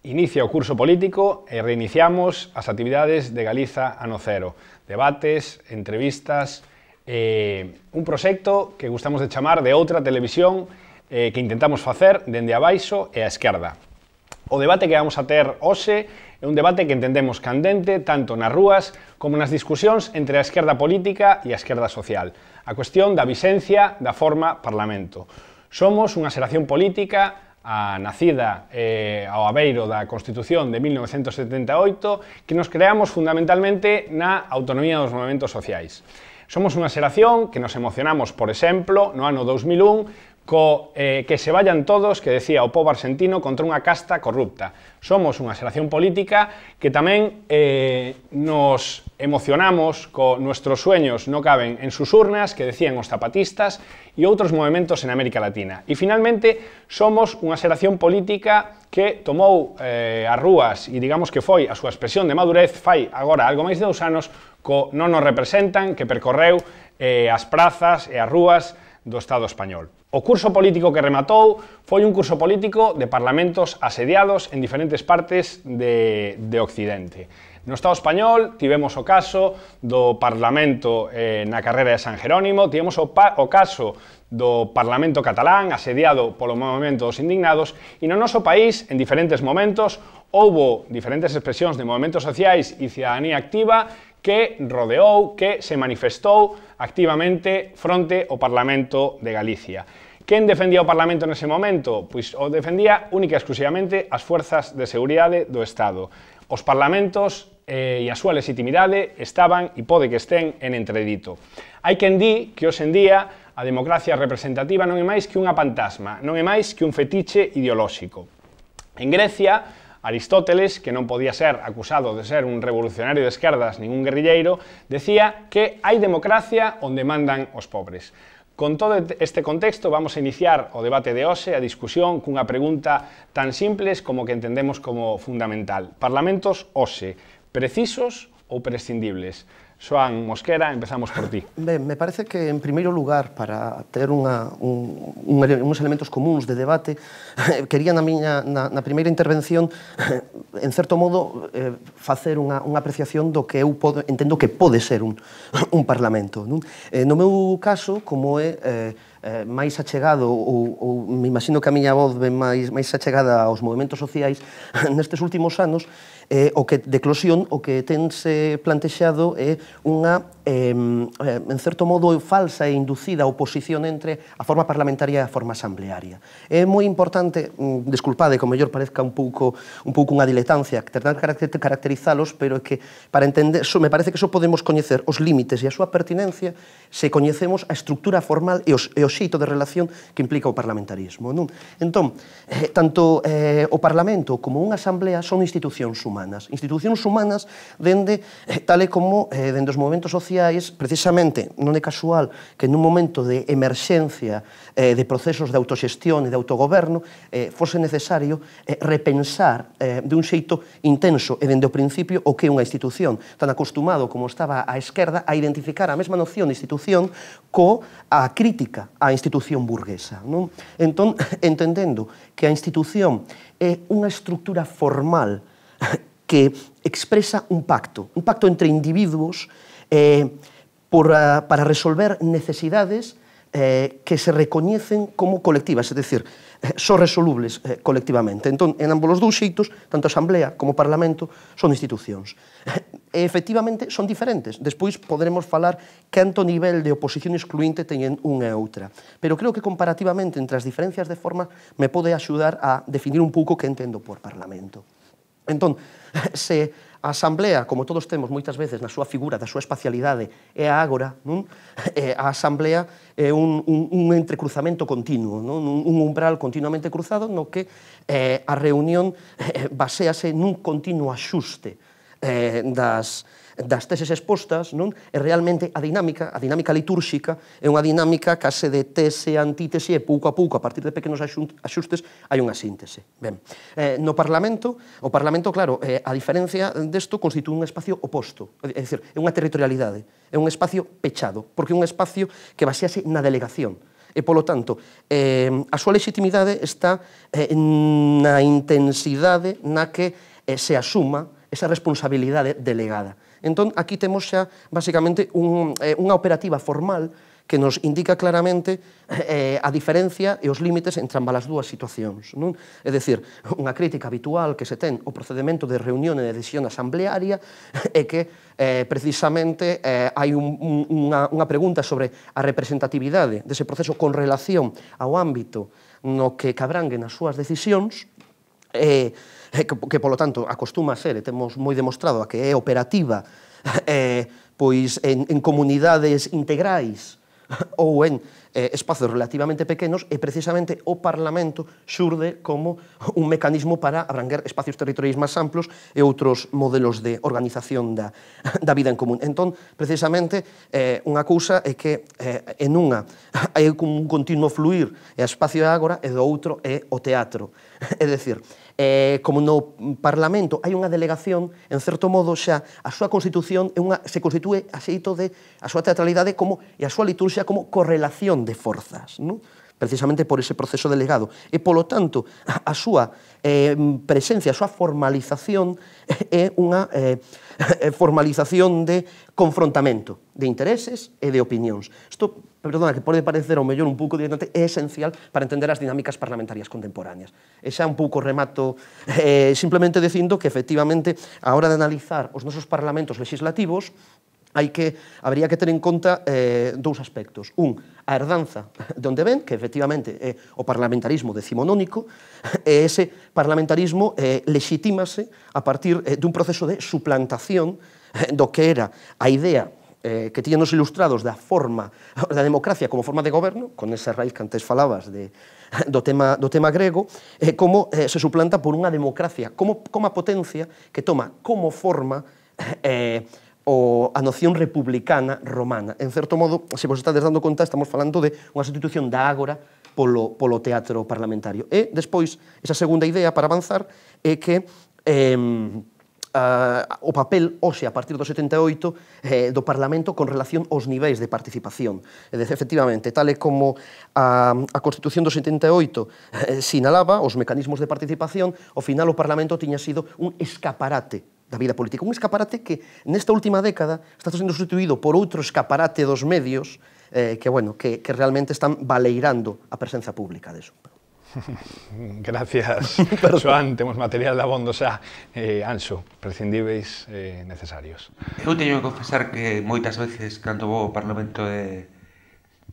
Inicia o curso político e reiniciamos as actividades de Galiza Ano Cero. Debates, entrevistas, un proxecto que gustamos de chamar de outra televisión que intentamos facer dende abaixo e a esquerda. O debate que vamos a ter hoxe é un debate que entendemos candente tanto nas rúas como nas discusións entre a esquerda política e a esquerda social. A cuestión da vixencia da forma Parlamento. Somos unha xeración política nacida ao abeiro da Constitución de 1978 que nos creamos fundamentalmente na autonomía dos movementos sociais. Somos unha xeración que nos emocionamos, por exemplo, no ano 2001 que se vayan todos, que decía o pobo argentino, contra unha casta corrupta. Somos unha xeración política que tamén nos emocionamos co nuestros sueños no caben en sus urnas, que decían os zapatistas e outros movementos en América Latina. E finalmente somos unha xeración política que tomou as rúas e digamos que foi a súa expresión de madurez fai agora algo máis de 2 anos co non nos representan que percorreu as prazas e as rúas do Estado español. O curso político que rematou foi un curso político de parlamentos asediados en diferentes partes de Occidente. No Estado español tivemos o caso do Parlamento na carrera de San Jerónimo, tivemos o caso do Parlamento catalán asediado polo movemento dos indignados e no noso país, en diferentes momentos, houbo diferentes expresións de movementos sociais e cidadanía activa que rodeou, que se manifestou activamente fronte ao Parlamento de Galicia. Quen defendía o Parlamento nese momento? Pois o defendía única e exclusivamente as forzas de seguridade do Estado. Os parlamentos e a súa legitimidade estaban e pode que estén en entredito. Hai quen di que hoxe en día a democracia representativa non é máis que unha fantasma, non é máis que un fetiche ideolóxico. En Grecia, Aristóteles, que non podía ser acusado de ser un revolucionario de esquerdas nin un guerrilleiro, decía que hai democracia onde mandan os pobres. Con todo este contexto vamos a iniciar o debate de hoxe, a discusión cunha pregunta tan simples como que entendemos como fundamental. Parlamentos hoxe, precisos ou prescindibles? Xoán Mosquera, empezamos por ti. Ben, me parece que, en primeiro lugar, para ter uns elementos comuns de debate, quería na primeira intervención, en certo modo, facer unha apreciación do que eu entendo que pode ser un parlamento. No meu caso, como é máis achegado, ou me imagino que a miña voz ven máis achegada aos movementos sociais, nestes últimos anos, o que de eclosión, o que tense plantexado é unha, en certo modo, falsa e inducida oposición entre a forma parlamentaria e a forma asamblearia. É moi importante, desculpade, que o mellor parezca un pouco unha diletancia, tratar de caracterizalos, pero é que, para entender, me parece que só podemos coñecer os límites e a súa pertinencia se coñecemos a estructura formal e o xeito de relación que implica o parlamentarismo. Entón, tanto o Parlamento como unha asamblea son institucións humanas dende, tal e como dende os movementos sociais, precisamente, non é casual que nun momento de emerxencia de procesos de autoxestión e de autogoberno fose necesario repensar de un xeito intenso e dende o principio o que é unha institución, tan acostumado como estaba a esquerda a identificar a mesma noción de institución coa crítica á institución burguesa. Entón, entendendo que a institución é unha estructura formal que expresa un pacto entre individuos para resolver necesidades que se recoñecen como colectivas, é dicir, son resolubles colectivamente. Entón, en ambos os dous xeitos, tanto a Asamblea como o Parlamento son institucións. E, efectivamente, son diferentes. Despois poderemos falar canto nivel de oposición excluinte teñen unha e outra. Pero creo que comparativamente entre as diferencias de forma me pode axudar a definir un pouco que entendo por Parlamento. Entón, se a Asamblea, como todos temos moitas veces na súa figura, da súa espacialidade, é a ágora, non? A Asamblea é un entrecruzamento continuo, non? Un umbral continuamente cruzado no que a reunión baséase nun continuo axuste das teses expostas, non? E realmente a dinámica litúrxica é unha dinámica case de tese, antítese, e pouco a pouco, a partir de pequenos axustes, hai unha síntese. Ben, no Parlamento, o Parlamento, claro, a diferencia desto, constitúe un espacio oposto, é dicir, é unha territorialidade, é un espacio pechado, porque é un espacio que basease na delegación, e, polo tanto, a súa legitimidade está na intensidade na que se asuma esa responsabilidade delegada. Entón, aquí temos xa, basicamente, unha operativa formal que nos indica claramente a diferencia e os límites entre ambas as dúas situacións. Non? É dicir, unha crítica habitual que se ten ao procedimento de reunión e de decisión asamblearia é que, precisamente, hai unha pregunta sobre a representatividade dese proceso con relación ao ámbito no que cabrangue nas súas decisións, que, polo tanto, acostuma a ser, e temos moi demostrado, a que é operativa pois en comunidades integrais ou en espazos relativamente pequenos, e precisamente o Parlamento xurde como un mecanismo para abranguer espacios territoriais máis amplos e outros modelos de organización da vida en común. Entón, precisamente, unha cousa é que en unha hai un continuo fluir e espacio é agora, e do outro é o teatro. É dicir, como no Parlamento hai unha delegación, en certo modo xa a súa constitución se constitúe a xeito de a súa teatralidade e a súa liturxia como correlación de forzas, non? Precisamente por ese proceso delegado. E, polo tanto, a súa presencia, a súa formalización é unha formalización de confrontamento de intereses e de opinións. Isto, perdona, que pode parecer ao mellor un pouco directamente, é esencial para entender as dinámicas parlamentarias contemporáneas. E xa un pouco remato simplemente dicindo que, efectivamente, a hora de analizar os nosos parlamentos legislativos, habría que ter en conta dous aspectos. A herdanza de onde ven, que efectivamente é o parlamentarismo decimonónico, e ese parlamentarismo legitímase a partir dun proceso de suplantación do que era a idea que tiñan os ilustrados da democracia como forma de goberno, con esa raíz que antes falabas do tema grego, como se suplanta por unha democracia como a potencia que toma como forma a noción republicana romana. En certo modo, se vos estades dando conta, estamos falando de unha sustitución da ágora polo teatro parlamentario. E, despois, esa segunda idea para avanzar é que o papel hoxe, a partir do 78, do Parlamento con relación aos niveis de participación. E, efectivamente, tal e como a Constitución do 78 sinalaba os mecanismos de participación, ao final o Parlamento tiña sido un escaparate da vida política. Un escaparate que, nesta última década, está sendo sustituído por outro escaparate dos medios que realmente están baleirando a presenza pública deso. Gracias, Xoán. Temos material de abondo xa. Anxo, prescindíveis necesarios. Eu teño que confesar que moitas veces, cando vou ao Parlamento de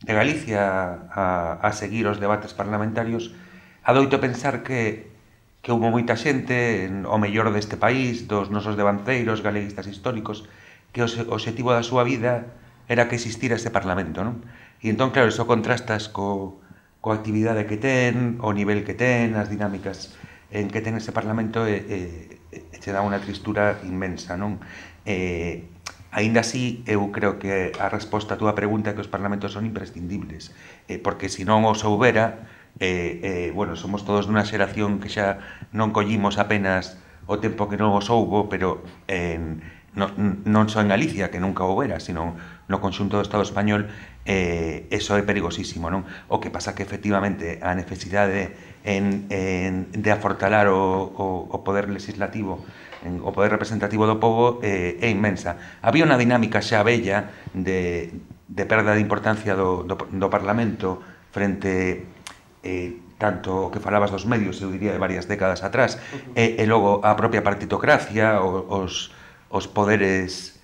Galicia a seguir os debates parlamentarios, adoito pensar que houve moita xente, o mellor deste país, dos nosos devanceiros galeguistas históricos, que o obxectivo da súa vida era que existira ese Parlamento, non? E entón, claro, iso contrastas coa actividade que ten, o nivel que ten, as dinámicas en que ten ese Parlamento, che dá unha tristura inmensa, non? Aínda así, eu creo que a resposta a túa pregunta é que os parlamentos son imprescindibles, porque se non os houbera, somos todos dunha xeración que xa non collimos apenas o tempo que non os houbo, pero non só en Galicia, que nunca houbera, sino no conxunto do Estado español, eso é perigosísimo, non? O que pasa que, efectivamente, a necesidade de afortalar o poder legislativo, o poder representativo do pobo, é inmensa. Había unha dinámica xa bella de perda de importancia do Parlamento frente tanto o que falabas dos medios, eu diría de varias décadas atrás, e logo a propia partitocracia, os poderes,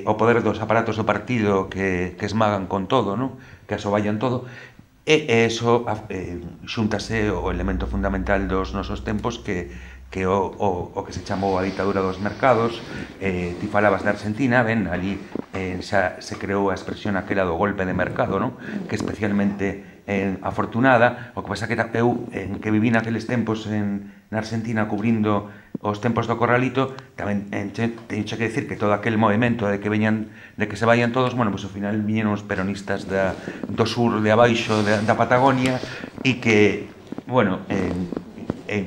o poder dos aparatos do partido que esmagan con todo, non? Que asoballan todo, e eso xuntase o elemento fundamental dos nosos tempos que que o que se chamou a ditadura dos mercados. Ti falabas da Argentina, ben, ali xa se creou a expresión aquela do golpe de mercado, non? Que especialmente afortunada. O que pasa que eu, que viví naqueles tempos na Argentina cubrindo os tempos do Corralito, tamén teño que decir que todo aquel movimento de que se vayan todos, bueno, pois ao final viñeron os peronistas do sur de abaixo da Patagonia, e que, bueno,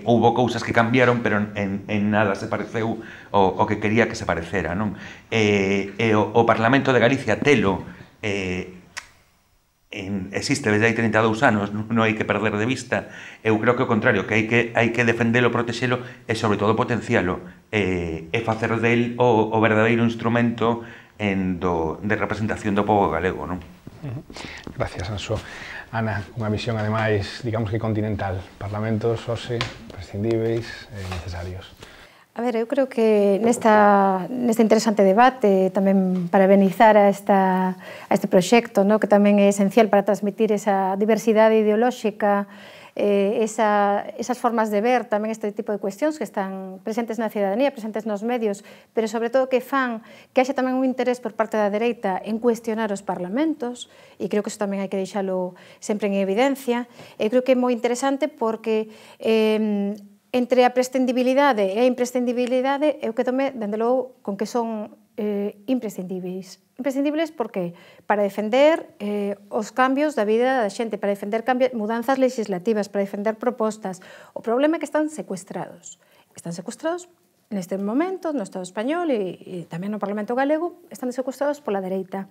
houbo cousas que cambiaron, pero en nada se pareceu o que quería que se parecera, non? O Parlamento de Galicia telo existe desde hai 32 anos, non hai que perder de vista. Eu creo que o contrario, que hai que defendelo, protexelo e sobre todo potencialo e facer del o verdadeiro instrumento de representación do povo galego, non? Gracias, Anxo. Ana, unha visión ademais, digamos que continental, parlamentos, OSE, prescindíveis e necesarios. A ver, eu creo que neste interesante debate, tamén para benizar a este proxecto, que tamén é esencial para transmitir esa diversidade ideolóxica, esas formas de ver tamén este tipo de cuestións que están presentes na cidadanía, presentes nos medios, pero sobre todo que fan que haxe tamén un interés por parte da dereita en cuestionar os parlamentos, e creo que iso tamén hai que deixalo sempre en evidencia. Eu creo que é moi interesante porque entre a prescindibilidade e a imprescindibilidade eu quedome, dende logo, con que son imprescindíveis. Imprescindibles porque para defender os cambios da vida da xente, para defender mudanzas legislativas, para defender propostas. O problema é que están secuestrados. Están secuestrados neste momento no Estado español e tamén no Parlamento galego, están secuestrados pola dereita.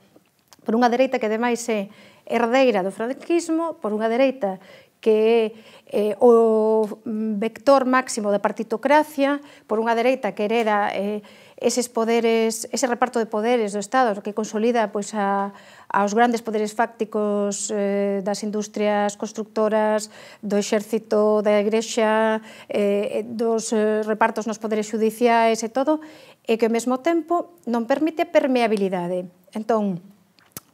Por unha dereita que ademais é herdeira do franquismo, por unha dereita que é o vector máximo da partitocracia, por unha dereita que hereda eses poderes, ese reparto de poderes do Estado que consolida aos grandes poderes fácticos das industrias constructoras, do exército, da igrexa, dos repartos nos poderes judiciais e todo, e que ao mesmo tempo non permite a permeabilidade. Entón,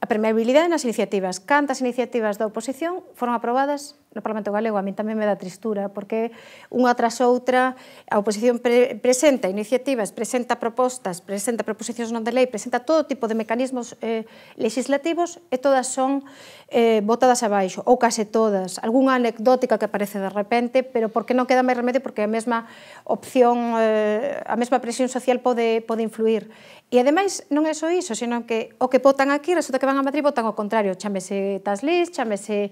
a permeabilidade nas iniciativas. Cantas iniciativas da oposición foron aprobadas no Parlamento galego? A mí tamén me dá tristura, porque unha tras outra a oposición presenta iniciativas, presenta propostas, presenta proposicións non de lei, presenta todo tipo de mecanismos legislativos e todas son botadas abaixo, ou case todas. Algúnha anecdótica que aparece de repente, pero porque non queda máis remedio, porque a mesma opción, a mesma presión social pode influir. E ademais non é só iso, senón que o que votan aquí resulta que van a Madrid e votan ao contrario. Chámese tax-list, chámese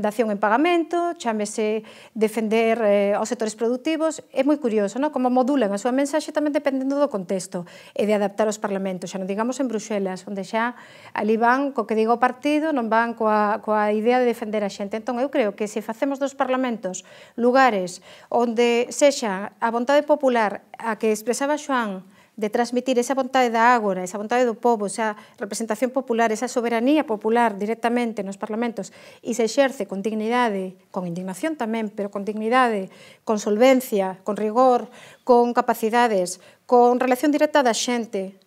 dación en pagamento, chámese defender aos sectores productivos. É moi curioso, como modulan a súa mensaxe tamén dependendo do contexto e de adaptar aos parlamentos. Xa non digamos en Bruxelas, onde xa ali van co que diga o partido, non van coa idea de defender a xente. Entón, eu creo que se facemos dos parlamentos lugares onde sexa a vontade popular a que expresaba Xoán, de transmitir esa vontade da ágora, esa vontade do povo, esa representación popular, esa soberanía popular directamente nos parlamentos e se exerce con dignidade, con indignación tamén, pero con dignidade, con solvencia, con rigor, con capacidades, con relación directa da xente,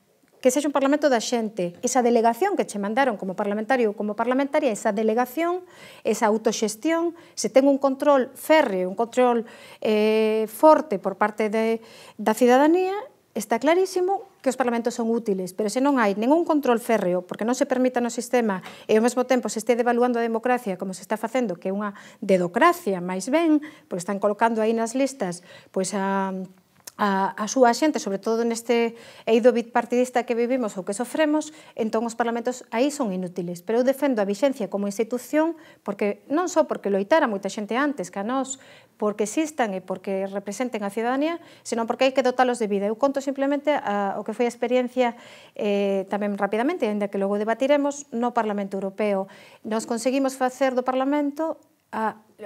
que sexa un parlamento da xente, esa delegación que che mandaron como parlamentario ou como parlamentaria, esa delegación, esa autoxestión, se ten un control férreo, un control forte por parte da cidadanía, está clarísimo que os parlamentos son útiles, pero se non hai ningún control férreo, porque non se permita no sistema e ao mesmo tempo se este devaluando a democracia como se está facendo, que é unha dedocracia, máis ben, porque están colocando aí nas listas a súa xente, sobre todo neste eido bipartidista que vivimos ou que sofremos, entón os parlamentos aí son inútiles. Pero eu defendo a vixencia como institución, porque non só porque loitara moita xente antes que a nós, porque existan e porque representen a cidadanía, senón porque hai que dotalos de vida. Eu conto simplemente o que foi a experiencia tamén rapidamente, ainda que logo debatiremos, no Parlamento Europeo. Nos conseguimos facer do Parlamento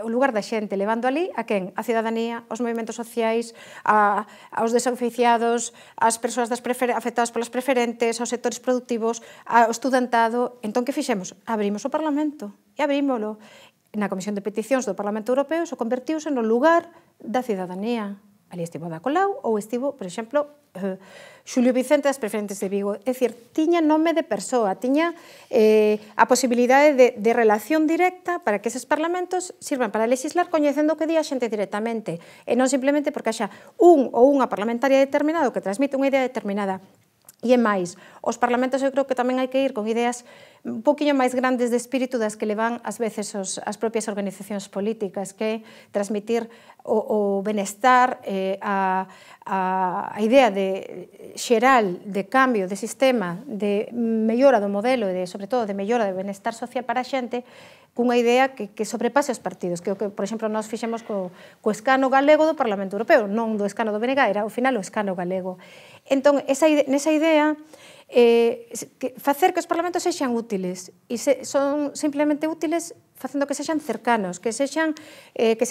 o lugar da xente, levando ali a quen? A cidadanía, aos movimentos sociais, aos desoficiados, ás persoas afectadas polas preferentes, aos sectores productivos, ao estudantado. Entón, que fixemos? Abrimos o Parlamento e abrímolo. Na Comisión de Peticións do Parlamento Europeo se convertiuse no lugar da cidadanía. Ali estivo Ada Colau ou estivo, por exemplo, Xulio Vicente das Preferentes de Vigo. É dicir, tiña nome de persoa, tiña a posibilidade de relación directa para que eses parlamentos sirvan para legislar coñecendo o que di a xente directamente e non simplemente porque haxa un ou unha parlamentaria determinado que transmite unha idea determinada. E é máis, os parlamentos eu creo que tamén hai que ir con ideas un poquinho máis grandes de espírito das que levan ás veces as propias organizacións políticas, que é transmitir o benestar, a idea xeral de cambio de sistema, de mellora do modelo e sobre todo de mellora do benestar social para a xente, cunha idea que sobrepase os partidos, que é o que, por exemplo, nós fixemos co escano galego do Parlamento Europeo, non do escano do BNG, era ao final o escano galego. Entón, nesa idea, facer que os parlamentos sexan útiles, e son simplemente útiles facendo que sexan cercanos, que se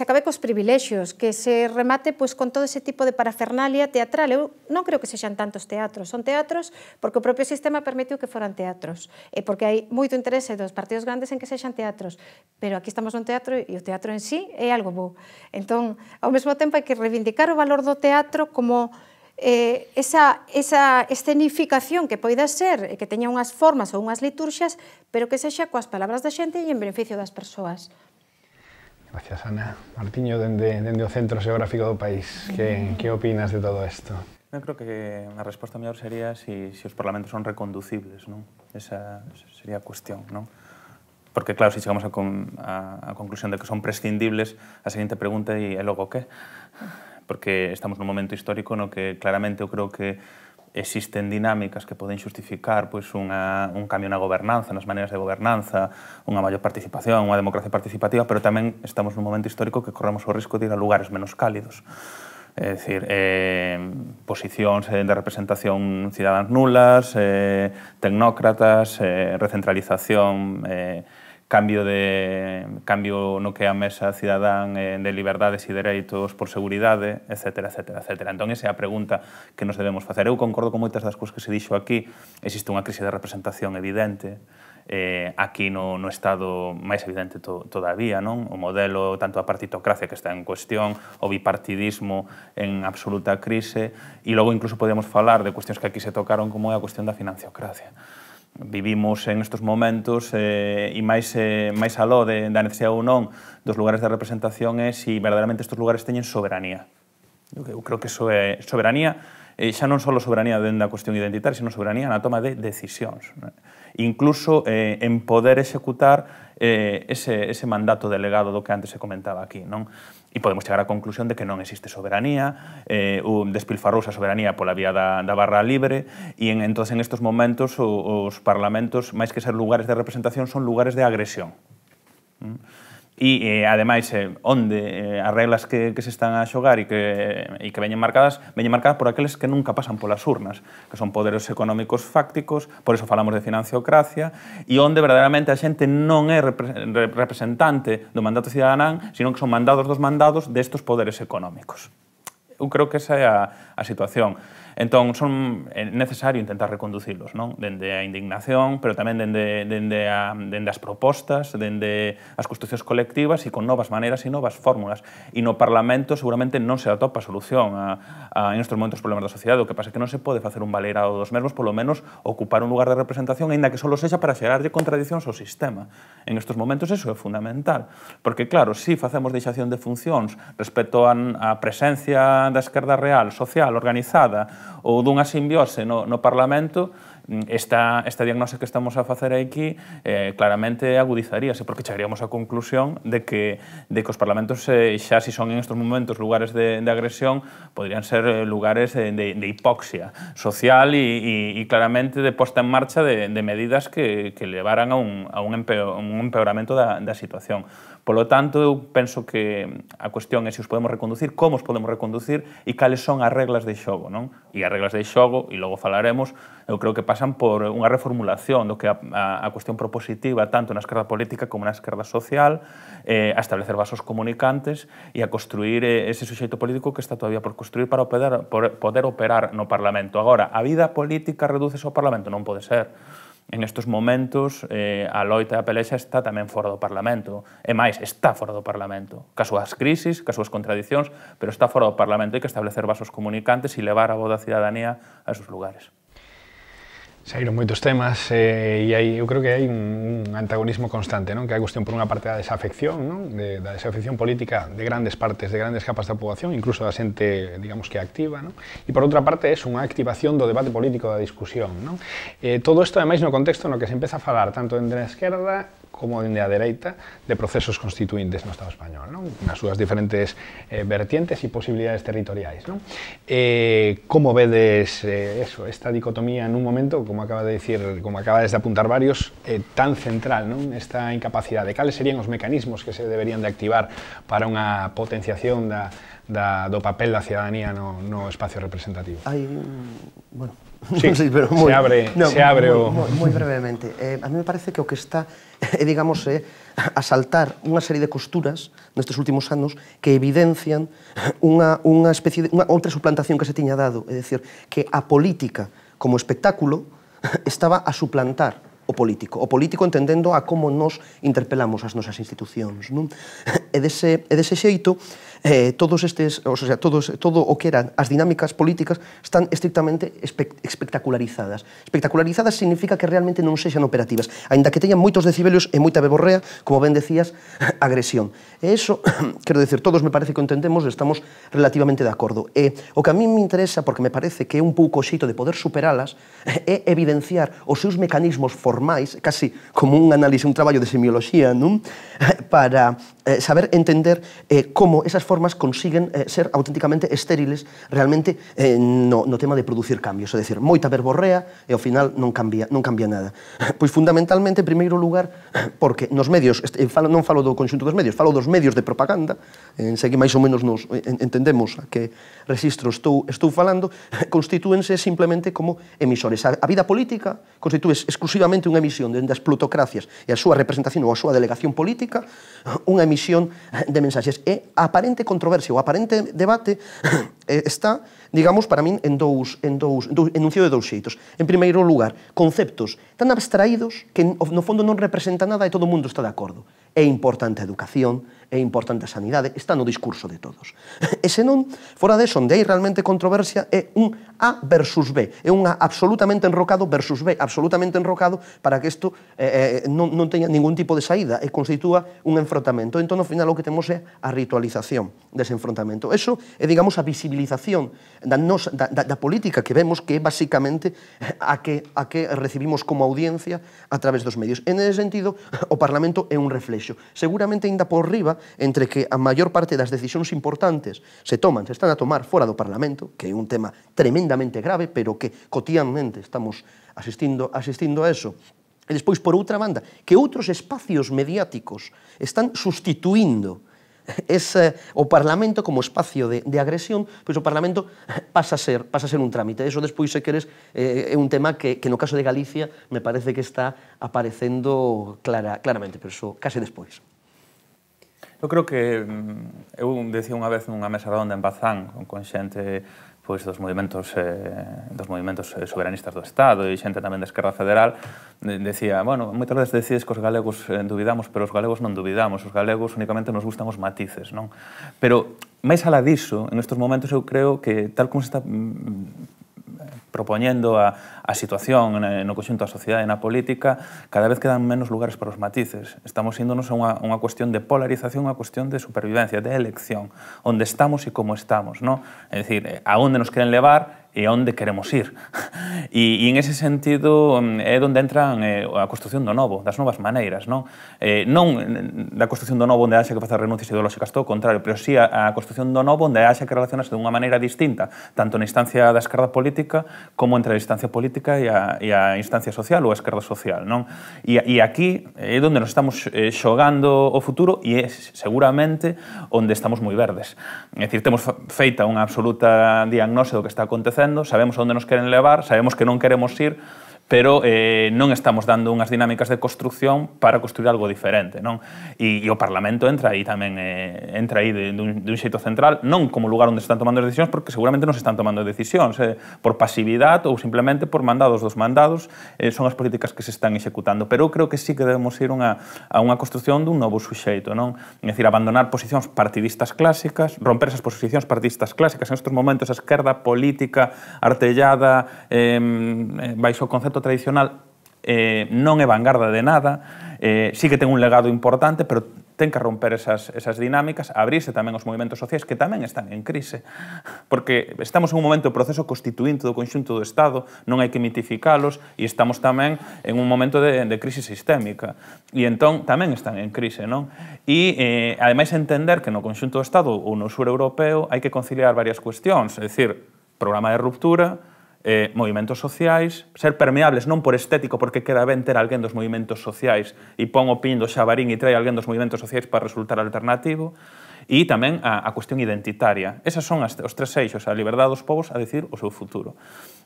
acabe cos privilexios, que se remate con todo ese tipo de parafernalia teatral. Eu non creo que sexan tantos teatros, son teatros porque o propio sistema permitiu que foran teatros, e porque hai moito interese dos partidos grandes en que sexan teatros, pero aquí estamos nun teatro e o teatro en sí é algo bo. Entón, ao mesmo tempo hai que reivindicar o valor do teatro como esa escenificación que poida ser, que teña unhas formas ou unhas liturxias, pero que sexa coas palabras da xente e en beneficio das persoas. Gracias, Ana. Martiño, dende o centro xeográfico do país, que opinas de todo isto? Eu creo que a resposta mellor sería se os parlamentos son reconducibles, non? Esa sería a cuestión, non? Porque, claro, se chegamos a conclusión de que son prescindibles, a seguinte pregunta é logo que? Porque estamos nun momento histórico no que claramente eu creo que existen dinámicas que poden xustificar un cambio na gobernanza, nas maneiras de gobernanza, unha maior participación, unha democracia participativa, pero tamén estamos nun momento histórico que corremos o risco de ir a lugares menos cálidos. É dicir, posicións de representación cidadáns nulas, tecnócratas, recentralización, cambio no que é a mesa cidadán de liberdades e dereitos por seguridade, etc. Entón, esa é a pregunta que nos debemos facer. Eu concordo con moitas das cousas que se dixo aquí. Existe unha crise de representación evidente, aquí no Estado máis evidente todavía, non? O modelo, tanto a partitocracia que está en cuestión, o bipartidismo en absoluta crise, e logo incluso podemos falar de cuestións que aquí se tocaron como é a cuestión da financiocracia. Vivimos en estes momentos e máis aló da necesidade ou non dos lugares de representación é se verdadeiramente estes lugares teñen soberanía. Eu creo que iso é soberanía, xa non só soberanía dentro da cuestión identitaria, sino soberanía na toma de decisións. Incluso en poder executar ese mandato delegado do que antes se comentaba aquí, non? E podemos chegar á conclusión de que non existe soberanía, despilfarrouse a soberanía pola vía da barra libre, e entón, en estes momentos, os parlamentos, máis que ser lugares de representación, son lugares de agresión. E, ademais, onde as reglas que se están a xogar e que veñen marcadas por aqueles que nunca pasan polas urnas, que son poderes económicos fácticos, por eso falamos de financiocracia, e onde verdadeiramente a xente non é representante do mandato cidadán, sino que son mandados dos mandados destes poderes económicos. Eu creo que esa é a situación. Entón, é necesario intentar reconducilos, non? Dende a indignación, pero tamén dende as propostas, dende as construcións colectivas e con novas maneiras e novas fórmulas. E no Parlamento seguramente non se atopa solución en estes momentos problemas da sociedade. O que pasa é que non se pode facer un baleirado dos mesmos, polo menos ocupar un lugar de representación, aínda que só sexa para xerarlle contradicións ao sistema. En estes momentos eso é fundamental. Porque, claro, se facemos deixación de funcións respecto á presencia da esquerda real, social, organizada, ou dunha simbiose no Parlamento, esta diagnose que estamos a facer aquí claramente agudizaríase, porque chegaríamos á conclusión de que os parlamentos, xa si son en estes momentos lugares de agresión, podrían ser lugares de hipoxia social e claramente de posta en marcha de medidas que levaran a un empeoramento da situación. Polo tanto, eu penso que a cuestión é se os podemos reconducir, como os podemos reconducir e cales son as reglas de xogo, non? E as reglas de xogo, e logo falaremos, eu creo que pasan por unha reformulación do que a cuestión propositiva tanto na esquerda política como na esquerda social, a establecer vasos comunicantes e a construir ese suxeito político que está todavía por construir para poder operar no Parlamento. Agora, a vida política redúcese ao Parlamento? Non pode ser. en estes momentos a loita e a pelexa está tamén fora do Parlamento. E máis, está fora do Parlamento. Cas súas crisis, cas súas contradicións, pero está fora do Parlamento. Hai que establecer vasos comunicantes e levar a voz da cidadanía a esos lugares. Saíron moitos temas e eu creo que hai un antagonismo constante, non? Que hai cuestión por unha parte da desafección, non? Da desafección política de grandes partes, de grandes capas da poboación, incluso da xente, digamos que activa, non? E por outra parte é unha activación do debate político, da discusión, non? Todo isto, ademais, no contexto no que se empeza a falar tanto dende a esquerda como dende a dereita de procesos constituintes no Estado español, non? Nas súas diferentes vertientes e posibilidades territoriais, non? Como vedes esta dicotomía nun momento, como acabas de apuntar varios, tan central, non? Esta incapacidade. Cales serían os mecanismos que se deberían de activar para unha potenciación do papel da cidadanía no espacio representativo? Hai, bueno, sí, non sei, pero se abre o... Moi brevemente. A mí me parece que o que está, digamos, a saltar unha serie de costuras nestes últimos anos que evidencian unha especie de outra suplantación que se tiña dado, é dicir, que a política como espectáculo estaba a suplantar o político entendendo a como nos interpelamos as nosas institucións, non? E dese xeito, todos estes, o sea, todo o que eran as dinámicas políticas están estrictamente espectacularizadas. Espectacularizadas significa que realmente non sexan operativas, aínda que teñan moitos decibelios e moita beborrea, como ben decías, agresión. E iso, quero dicir, todos me parece que o entendemos e estamos relativamente de acordo. E o que a mí me interesa, porque me parece que é un pouco o xeito de poder superalas, é evidenciar os seus mecanismos formais, casi como un análise, un traballo de semioloxía, non? Para saber entender como esas formas consiguen ser auténticamente estériles realmente no tema de producir cambios, é dicir, moita verborrea e ao final non cambia nada. Pois fundamentalmente, en primeiro lugar, porque nos medios, non falo do conxunto dos medios, falo dos medios de propaganda, sei que máis ou menos nos entendemos a que registro estou falando, constitúense simplemente como emisores. A vida política constitúe exclusivamente unha emisión dende as plutocracias e a súa representación ou a súa delegación política, unha emisión de mensaxes. E a aparente controversia, o aparente debate está, digamos, para min, enunciado de dous xeitos. En primeiro lugar, conceptos tan abstraídos que no fondo non representan nada e todo o mundo está de acordo. É importante a educación, é importante a sanidade, está no discurso de todos. E senón, fora deso, onde hai realmente controversia, é un A versus B, é un A absolutamente enrocado versus B absolutamente enrocado para que isto non teña ningún tipo de saída e constitúa un enfrontamento. Entón, ao final, o que temos é a ritualización dese enfrontamento. Eso é, digamos, a visibilización da política que vemos que é basicamente a que recibimos como audiencia a través dos medios. En ese sentido, o Parlamento é un reflexo. Seguramente ainda por riba, entre que a maior parte das decisións importantes se están a tomar fora do Parlamento, que é un tema tremendamente grave, pero que cotidianamente estamos asistindo a eso. E despois, por outra banda, que outros espacios mediáticos están sustituindo o Parlamento como espacio de agresión, pois o Parlamento pasa a ser un trámite. Eso despois, se queres, é un tema que no caso de Galicia me parece que está aparecendo claramente, pero eso case despois. Eu creo que eu decía unha vez nunha mesa redonda en Bazán con xente dos movimentos soberanistas do Estado e xente tamén da Esquerda Federal, decía, bueno, moitas veces decides que os galegos dubidamos, pero os galegos non dubidamos, os galegos únicamente nos gustan os matices, non? Pero, máis alá diso, en estes momentos eu creo que, tal como se está propoñendo a situación no conxunto da sociedade e na política, cada vez quedan menos lugares para os matices. Estamos índonos a unha cuestión de polarización, unha cuestión de supervivencia, de elección, onde estamos e como estamos, non? É dicir, a onde nos queren levar e a onde queremos ir. E en ese sentido é onde entran a construción do novo, das novas maneiras, non? Non da construción do novo onde haxa que facer renuncias ideolóxicas, todo o contrario, pero sí a construción do novo onde haxa que relacionarse de unha maneira distinta, tanto na instancia da esquerda política como entre a instancia política e a instancia social ou a esquerda social, non? E aquí é onde nos estamos xogando o futuro e é seguramente onde estamos moi verdes. É dicir, temos feita unha absoluta diagnose do que está acontecendo, sabemos onde nos queren levar, sabemos que non queremos ir, pero non estamos dando unhas dinámicas de construcción para construir algo diferente, non? E o Parlamento entra aí tamén, entra aí dun xeito central, non como lugar onde se están tomando as decisións, porque seguramente non se están tomando decisións, por pasividade ou simplemente por mandados dos mandados, son as políticas que se están executando, pero eu creo que sí que debemos ir a unha construcción dun novo suxeito, non? É dicir, abandonar posicións partidistas clásicas, romper esas posicións partidistas clásicas. En estes momentos a esquerda política artellada baixo o concepto tradicional non é vanguarda de nada, sí que ten un legado importante, pero ten que romper esas dinámicas, abrirse tamén aos movimentos sociais que tamén están en crise, porque estamos en un momento de proceso constituinte do conxunto do Estado, non hai que mitificalos, e estamos tamén en un momento de crise sistémica, e entón tamén están en crise, non? E, ademais, entender que no conxunto do Estado ou no sur europeo hai que conciliar varias cuestións, é dicir, programa de ruptura, movimentos sociais, ser permeables non por estético, porque queda ben ter alguén dos movimentos sociais e pon o pin do xabarín e trae alguén dos movimentos sociais para resultar alternativo, e tamén a cuestión identitaria. Esas son os tres eixos, a liberdade dos povos a decir o seu futuro.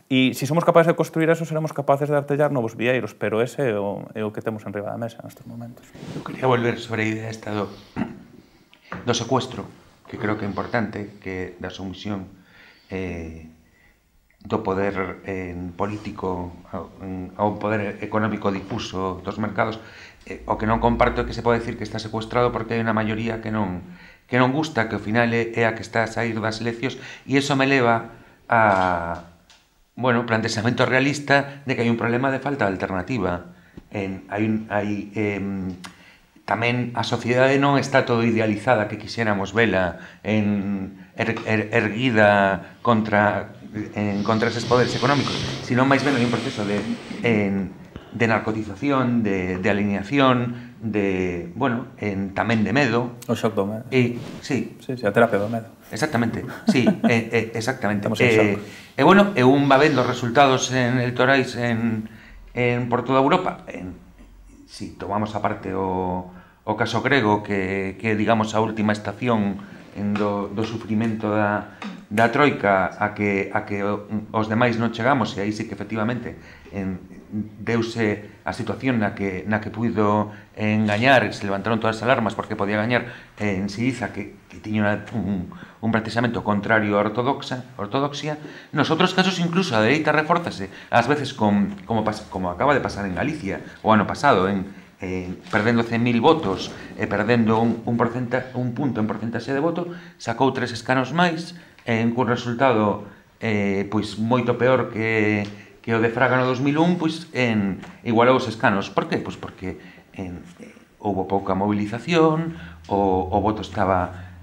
E se somos capaces de construir eso, seremos capaces de artellar novos vieiros, pero ese é o que temos en riba da mesa nestes momentos. Eu quería volver sobre a idea esta do secuestro, que creo que é importante, que da sumisión do poder político ao poder económico difuso dos mercados. O que non comparto é que se pode decir que está secuestrado porque hai unha maioría que non gusta, que ao final é a que está a sair das eleccións, e iso me leva a planteamento realista de que hai un problema de falta de alternativa. Tamén a sociedade non está todo idealizada que quixéramos vela erguida contra eses poderes económicos, sino máis ben hai un proceso de narcotización, de alineación, tamén de medo. O shock do medo. Sí, a terapia do medo. Exactamente, sí, exactamente. E un va vendo resultados electorais por toda Europa. Si tomamos aparte o caso grego, que digamos a última estación do sufrimento da troika a que os demais non chegamos, e aí sí que efectivamente deuse a situación na que puido engañar, se levantaron todas as alarmas porque podía gañar en Siriza, que tiña un planteamento contrario á ortodoxia. Nos outros casos incluso a dereita reforzase ás veces como acaba de pasar en Galicia o ano pasado, perdendo 100.000 votos e perdendo un punto en porcentaxe de voto, sacou 3 escanos máis, cun resultado moito peor que o de Fraga no 2001, igualou os escanos. Por qué? Porque houve pouca movilización, o voto estaba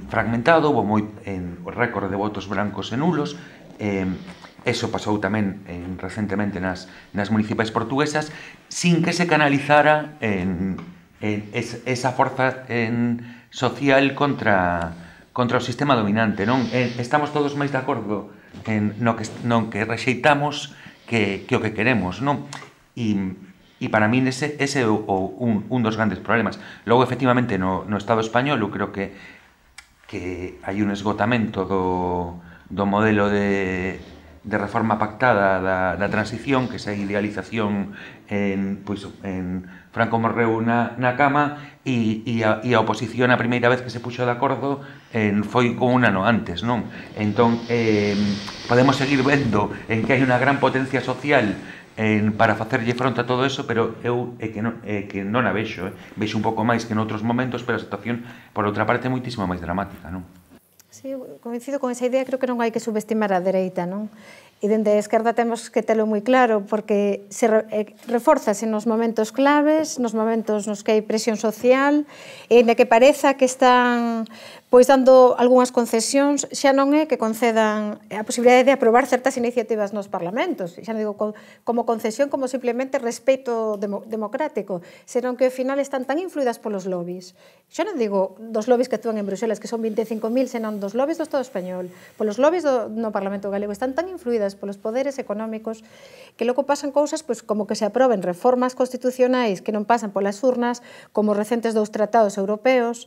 fragmentado, houve o récord de votos brancos e nulos. Eso pasou tamén recentemente nas municipais portuguesas, sin que se canalizara esa forza social contra o sistema dominante, non? Estamos todos máis de acordo no que rexeitamos que o que queremos, non? E para min ese é un dos grandes problemas. Logo, efectivamente, no Estado español, eu creo que hai un esgotamento do modelo de reforma pactada da transición, que esa idealización en Franco morreu na cama, e a oposición a primeira vez que se puxo de acordo foi con un ano antes, non? Entón, podemos seguir vendo en que hai unha gran potencia social para facerlle fronte a todo eso, pero eu que non a vexo. Vexo un pouco máis que noutros momentos, pero a situación, por outra parte, é moitísimo máis dramática, non? Sí, coincido con esa idea, creo que non hai que subestimar a dereita, non? E dende a esquerda temos que telo moi claro, porque se reforzase nos momentos claves, nos momentos nos que hai presión social, e na que pareza que están dando algunhas concesións, xa non é que concedan a posibilidade de aprobar certas iniciativas nos parlamentos, xa non digo como concesión, como simplemente respeito democrático, senón que ao final están tan influídas polos lobbies. Xa non digo dos lobbies que actúan en Bruxelas, que son 25.000, senón dos lobbies do Estado español, polos lobbies no Parlamento galego, están tan influídas polos poderes económicos que logo pasan cousas como que se aproben reformas constitucionais que non pasan polas urnas, como recentes 2 tratados europeos,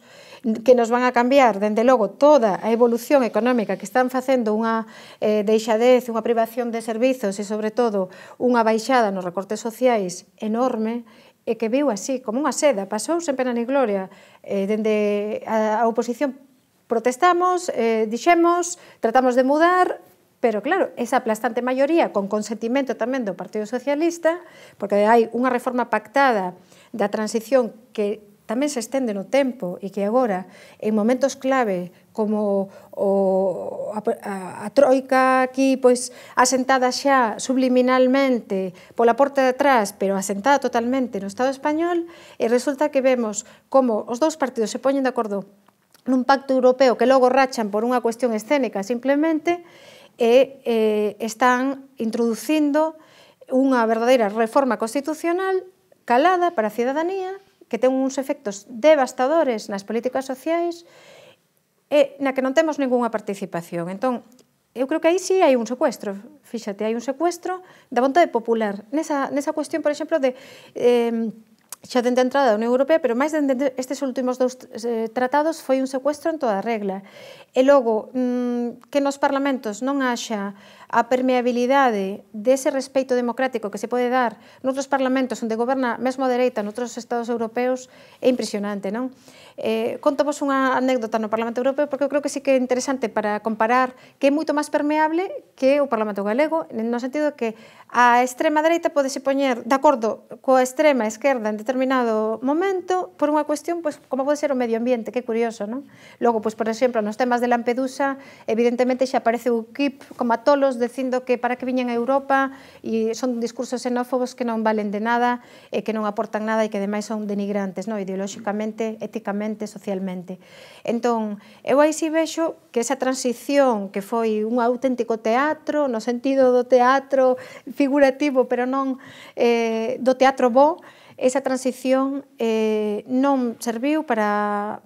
que nos van a cambiar denunciar, dende logo, toda a evolución económica que están facendo unha deixadez, unha privación de servizos e, sobre todo, unha baixada nos recortes sociais enorme, e que viu así, como unha seda, pasou sen pena ni gloria. Dende a oposición protestamos, dixemos, tratamos de mudar, pero claro, esa aplastante maioría, con consentimento tamén do Partido Socialista, porque hai unha reforma pactada da transición que tamén se estende no tempo e que agora, en momentos clave, como a troika aquí asentada xa subliminalmente pola porta de atrás, pero asentada totalmente no Estado español, e resulta que vemos como os dous partidos se poñen de acordo nun pacto europeo que logo rachan por unha cuestión escénica simplemente, e están introducindo unha verdadeira reforma constitucional calada para a cidadanía, que ten uns efectos devastadores nas políticas sociais e na que non temos ningunha participación. Entón, eu creo que aí sí hai un secuestro, fíxate, hai un secuestro da vontade popular. Nesa cuestión, por exemplo, de xa dende a entrada da Unión Europea, pero máis dende estes últimos dous tratados foi un secuestro en toda a regla. E logo, que nos parlamentos non haxa a permeabilidade dese respeito democrático que se pode dar noutros parlamentos onde goberna mesmo a dereita noutros estados europeus é impresionante, non? Contovos unha anécdota no Parlamento Europeo porque eu creo que sí que é interesante para comparar que é moito máis permeable que o Parlamento Galego, no sentido que a extrema dereita podese poñer de acordo coa extrema esquerda en determinado momento por unha cuestión como pode ser o medio ambiente, que é curioso, non? Logo, por exemplo, nos temas de Lampedusa, evidentemente xa aparece o UKIP como a tolos dicindo que para que viñen a Europa e son discursos xenófobos que non valen de nada e que non aportan nada e que ademais son denigrantes, non? Ideolóxicamente, éticamente, socialmente. Entón, eu aí si vexo que esa transición que foi un auténtico teatro, no sentido do teatro figurativo, pero non do teatro bo, esa transición non serviu para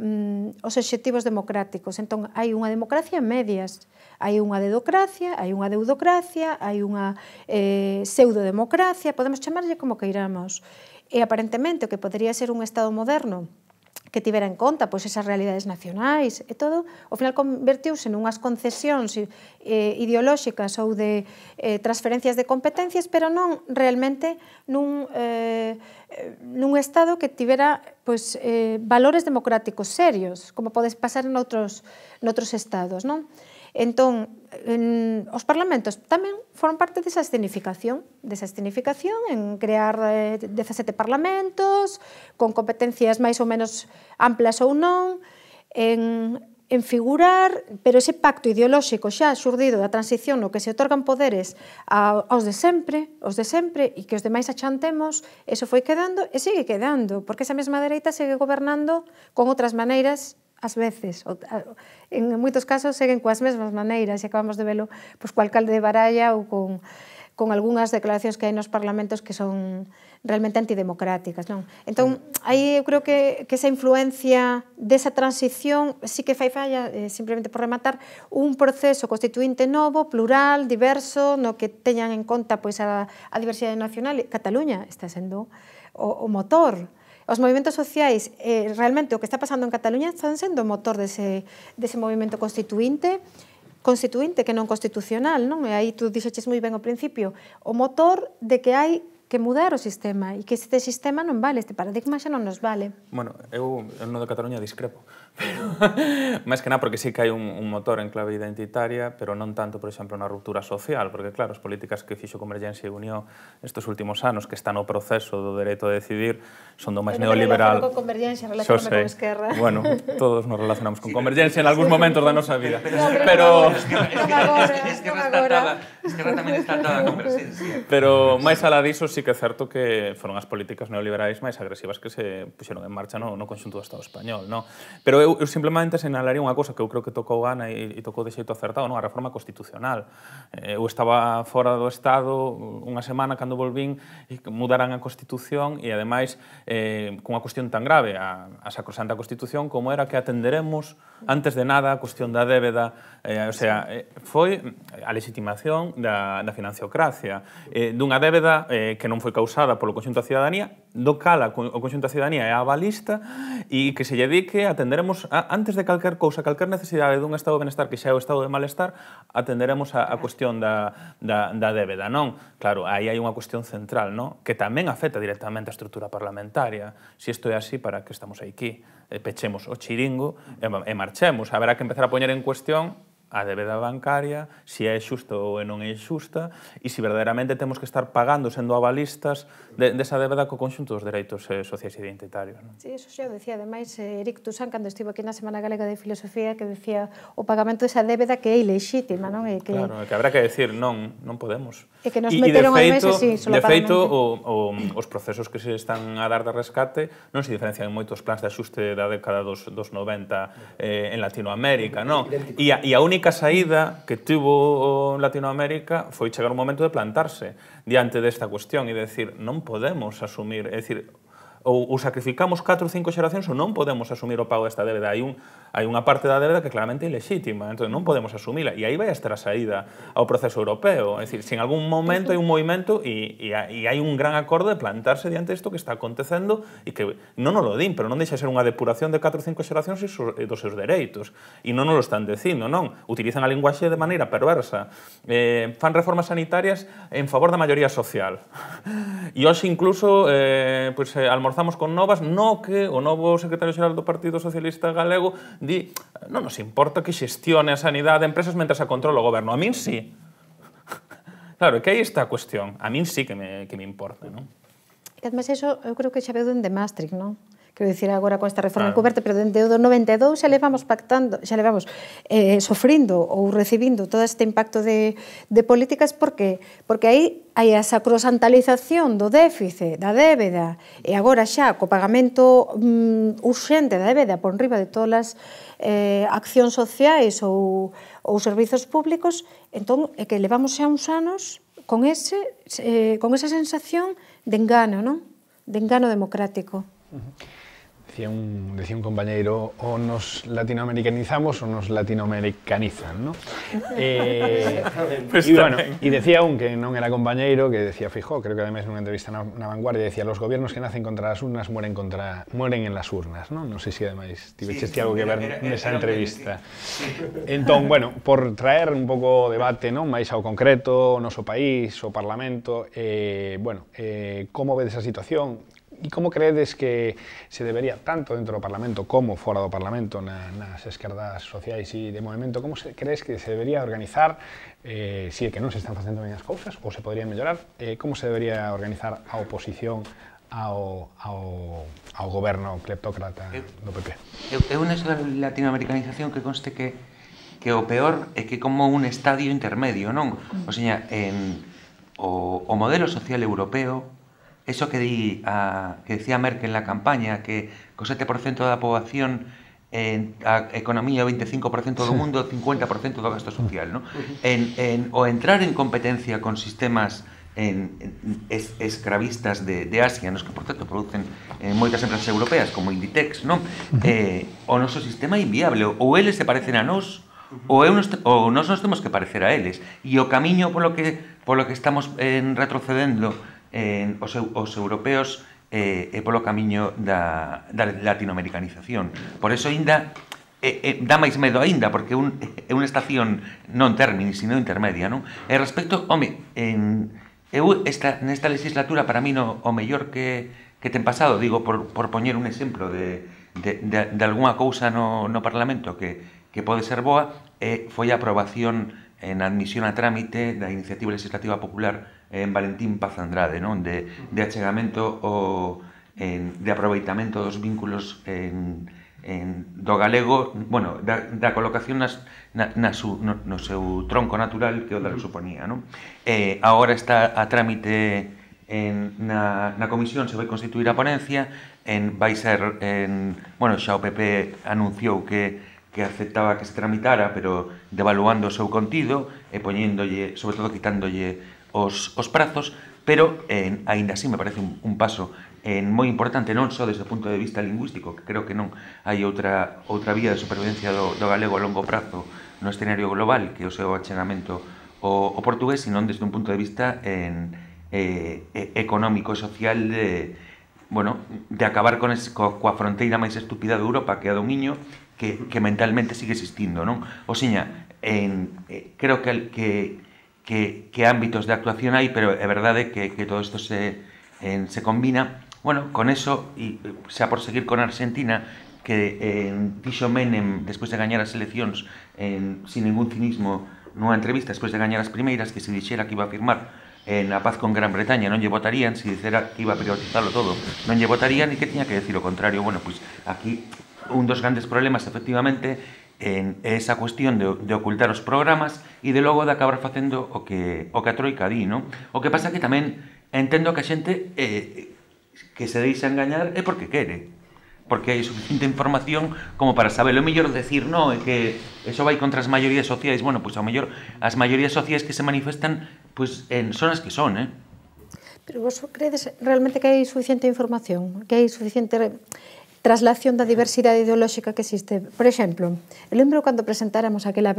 os obxectivos democráticos. Entón, hai unha democracia en medias. Hai unha dedocracia, hai unha deudocracia, hai unha pseudodemocracia, podemos chamarlle como queiramos. E, aparentemente, o que podería ser un Estado moderno que tivera en conta esas realidades nacionais e todo, ao final convertiuse nunhas concesións ideolóxicas ou de transferencias de competencias, pero non realmente nun Estado que tivera valores democráticos serios, como podes pasar noutros estados, non? Entón, os parlamentos tamén foron parte desa escenificación en crear 17 parlamentos, con competencias máis ou menos amplas ou non, en figurar, pero ese pacto ideolóxico xa xurdido da transición no que se otorgan poderes aos de sempre, e que os demais achantemos, eso foi quedando e sigue quedando, porque esa mesma dereita segue gobernando con outras maneiras ás veces, en moitos casos seguen coas mesmas maneiras e acabamos de velo co alcalde de Baralla ou con algunhas declaracións que hai nos parlamentos que son realmente antidemocráticas, non? Entón, aí eu creo que esa influencia desa transición sí que fai falla, simplemente por rematar, un proceso constituinte novo, plural, diverso, no que teñan en conta a diversidade nacional. Cataluña está sendo o motor. Os movimentos sociais, realmente o que está pasando en Cataluña están sendo o motor dese movimento constituinte que non constitucional, non? E aí tú dixeches moi ben ao principio, o motor de que hai que mudar o sistema e que este sistema non vale, este paradigma xa non nos vale. Bueno, eu no de Cataluña discrepo, máis que nada porque sí que hai un motor en clave identitaria, pero non tanto, por exemplo, na ruptura social, porque claro, as políticas que fixo Convergencia e Unión estes últimos anos, que están no proceso do dereito a decidir, son do máis neoliberal. Con Convergencia, relacioname con Esquerra. Bueno, todos nos relacionamos con Convergencia en algúns momentos da nosa vida, pero Esquerra tamén está atada a Convergencia. Pero máis alá diso, sí que é certo que foron as políticas neoliberais máis agresivas que se puxeron en marcha no conxunto do Estado español, non? Pero eu simplemente sinalaría unha cosa que eu creo que tocou Ana e tocou de xeito acertado, non? A reforma constitucional. Eu estaba fora do Estado unha semana cando volvín e mudaran a Constitución e, ademais, cunha cuestión tan grave, a sacrosanta Constitución, como era que atenderemos, antes de nada, a cuestión da débeda, o sea, foi a legitimación da financiocracia, dunha débeda que non foi causada polo conxunto da cidadanía, do cal o conxunto da ciudadanía é avalista e que se lle dedique atenderemos, antes de calquer cousa, calquer necesidade dun estado de benestar que xa é o estado de malestar, atenderemos a cuestión da débeda, non? Claro, aí hai unha cuestión central, non? Que tamén afecta directamente a estrutura parlamentaria. Se isto é así, para que estamos aquí? Pechemos o chiringo e marchemos. Haberá que empezar a poñer en cuestión a débeda bancaria, se é xusta ou non é xusta, e se verdadeiramente temos que estar pagando, sendo avalistas, desa débeda co conxunto dos dereitos sociais e identitarios. Sí, eso xa o decía, ademais, Eric Toussaint, cando estivo aquí na Semana Galega de Filosofía, que decía o pagamento desa débeda que é ilexítima, non? Claro, que habrá que decir, non podemos. E que nos meteron ao mes así, solapadamente. De feito, os procesos que se están a dar de rescate non se diferencian en moitos plans de axuste da década dos 90 en Latinoamérica, non? E a única saída que tuvo Latinoamérica foi chegar un momento de plantarse diante desta cuestión e de decir, non podemos asumir, é dicir, ou sacrificamos 4 ou 5 xeracións ou non podemos asumir o pago desta débeda. Hai unha parte da débeda que claramente é ilexítima, entón non podemos asumila. E aí vai a estar a saída ao proceso europeo. É dicir, se en algún momento hai un movimento e hai un gran acordo de plantarse diante isto que está acontecendo e que non nos lo din, pero non deixa ser unha depuración de 4 ou 5 xeracións dos seus dereitos. E non nos lo están dicindo, non? Utilizan a linguaxe de maneira perversa. Fan reformas sanitarias en favor da maioría social. E hoxe incluso almorzamos con novas no que o novo secretario xeral do Partido Socialista Galego di, non nos importa que xestione a sanidade de empresas mentre a controla o goberno. A min sí. Claro, que aí está a cuestión. A min sí que me importa, non? E además, eso eu creo que xa veu dende Maastricht, non? Quero dicir, agora con esta reforma encoberta, pero dende o do 92 xa levamos pactando, xa levamos sofrindo ou recibindo todo este impacto de políticas, porque aí hai a sacrosantalización do déficit, da débeda, e agora xa co pagamento urxente da débeda por riba de todas as accións sociais ou servizos públicos, entón é que levamos xa uns anos con esa sensación de engano, non? De engano democrático. Decía un compañeiro, o nos latinoamericanizamos o nos latinoamericanizan, ¿no? Y decía un que non era compañeiro, que decía Feijóo, creo que además en unha entrevista na Vanguardia, decía, los gobiernos que nacen contra las urnas mueren en las urnas, ¿no? Non sei se ademais tiveches algo que ver nesa entrevista. Entón, bueno, por traer un pouco debate, non, máis ao concreto, o noso país, o Parlamento, como vedes a situación? E como credes que se debería, tanto dentro do Parlamento como fora do Parlamento, nas esquerdas sociais e de movimento, como crees que se debería organizar, se é que non se están facendo ben as cousas, ou se podrían mellorar, como se debería organizar a oposición ao goberno cleptócrata do PP? Eu nesa latinoamericanización que conste que o peor é que como un estadio intermedio, non? O sea, o modelo social europeo, eso que decía Merkel na campaña, que co 7% da poboación a economía o 25% do mundo, 50% do gasto social, ¿no? O entrar en competencia con sistemas escravistas de Asia, nos que, por tanto, producen moitas empresas europeas, como Inditex, non? O noso sistema é inviable, ou eles se parecen a nós, ou nós nos temos que parecer a eles. E o camiño polo que estamos retrocedendo os europeos e polo camiño da latinoamericanización. Por eso ainda dá máis medo aínda, porque é unha estación non termini, sino intermedia, non? E respecto, nesta legislatura, para mí, o mellor que ten pasado, digo, por poñer un exemplo de algunha cousa no Parlamento que pode ser boa, foi a aprobación en admisión a trámite da Iniciativa Legislativa Popular en Valentín Paz Andrade, non? De achegamento de aproveitamento dos vínculos do galego, bueno, da colocación no seu tronco natural que o da lusofonía, non? Agora está a trámite na comisión, se vai constituir a ponencia, vai ser, bueno, xa o PP anunciou que aceptaba que se tramitara, pero devaluando o seu contido e poñéndolle, sobre todo quitándolle os prazos, pero aínda así me parece un paso moi importante, non só desde o punto de vista lingüístico, que creo que non hai outra vía de supervivencia do galego a longo prazo no escenario global que o seu achegamento ao portugués, sino desde un punto de vista económico e social bueno, de acabar coa fronteira máis estúpida de Europa, que é a do Miño, que mentalmente sigue existindo, non? O seña, creo que ámbitos de actuación hai, pero é verdade que todo isto se combina. Bueno, con eso, e xa por seguir con Argentina, que dixo Menem, despois de gañar as eleccións, sin ningún cinismo, nunha entrevista, despois de gañar as primeiras, que se dixera que iba a firmar na paz con Gran Bretaña, non lle votarían, se dixera que iba a privatizarlo todo, non lle votarían, e que tiña que decir o contrario. Bueno, pois aquí un dos grandes problemas, efectivamente, é esa cuestión de ocultar os programas e de logo de acabar facendo o que a Troika di, non? O que pasa que tamén entendo que a xente que se deixa engañar é porque quere, porque hai suficiente información como para saber. O mellor decir, no, é que eso vai contra as maiorías sociais. Bueno, pois ao mellor as maiorías sociais que se manifestan son as que son, Pero vos credes realmente que hai suficiente información, que hai suficiente traslación da diversidade ideolóxica que existe? Por exemplo, eu lembro cando presentáramos aquela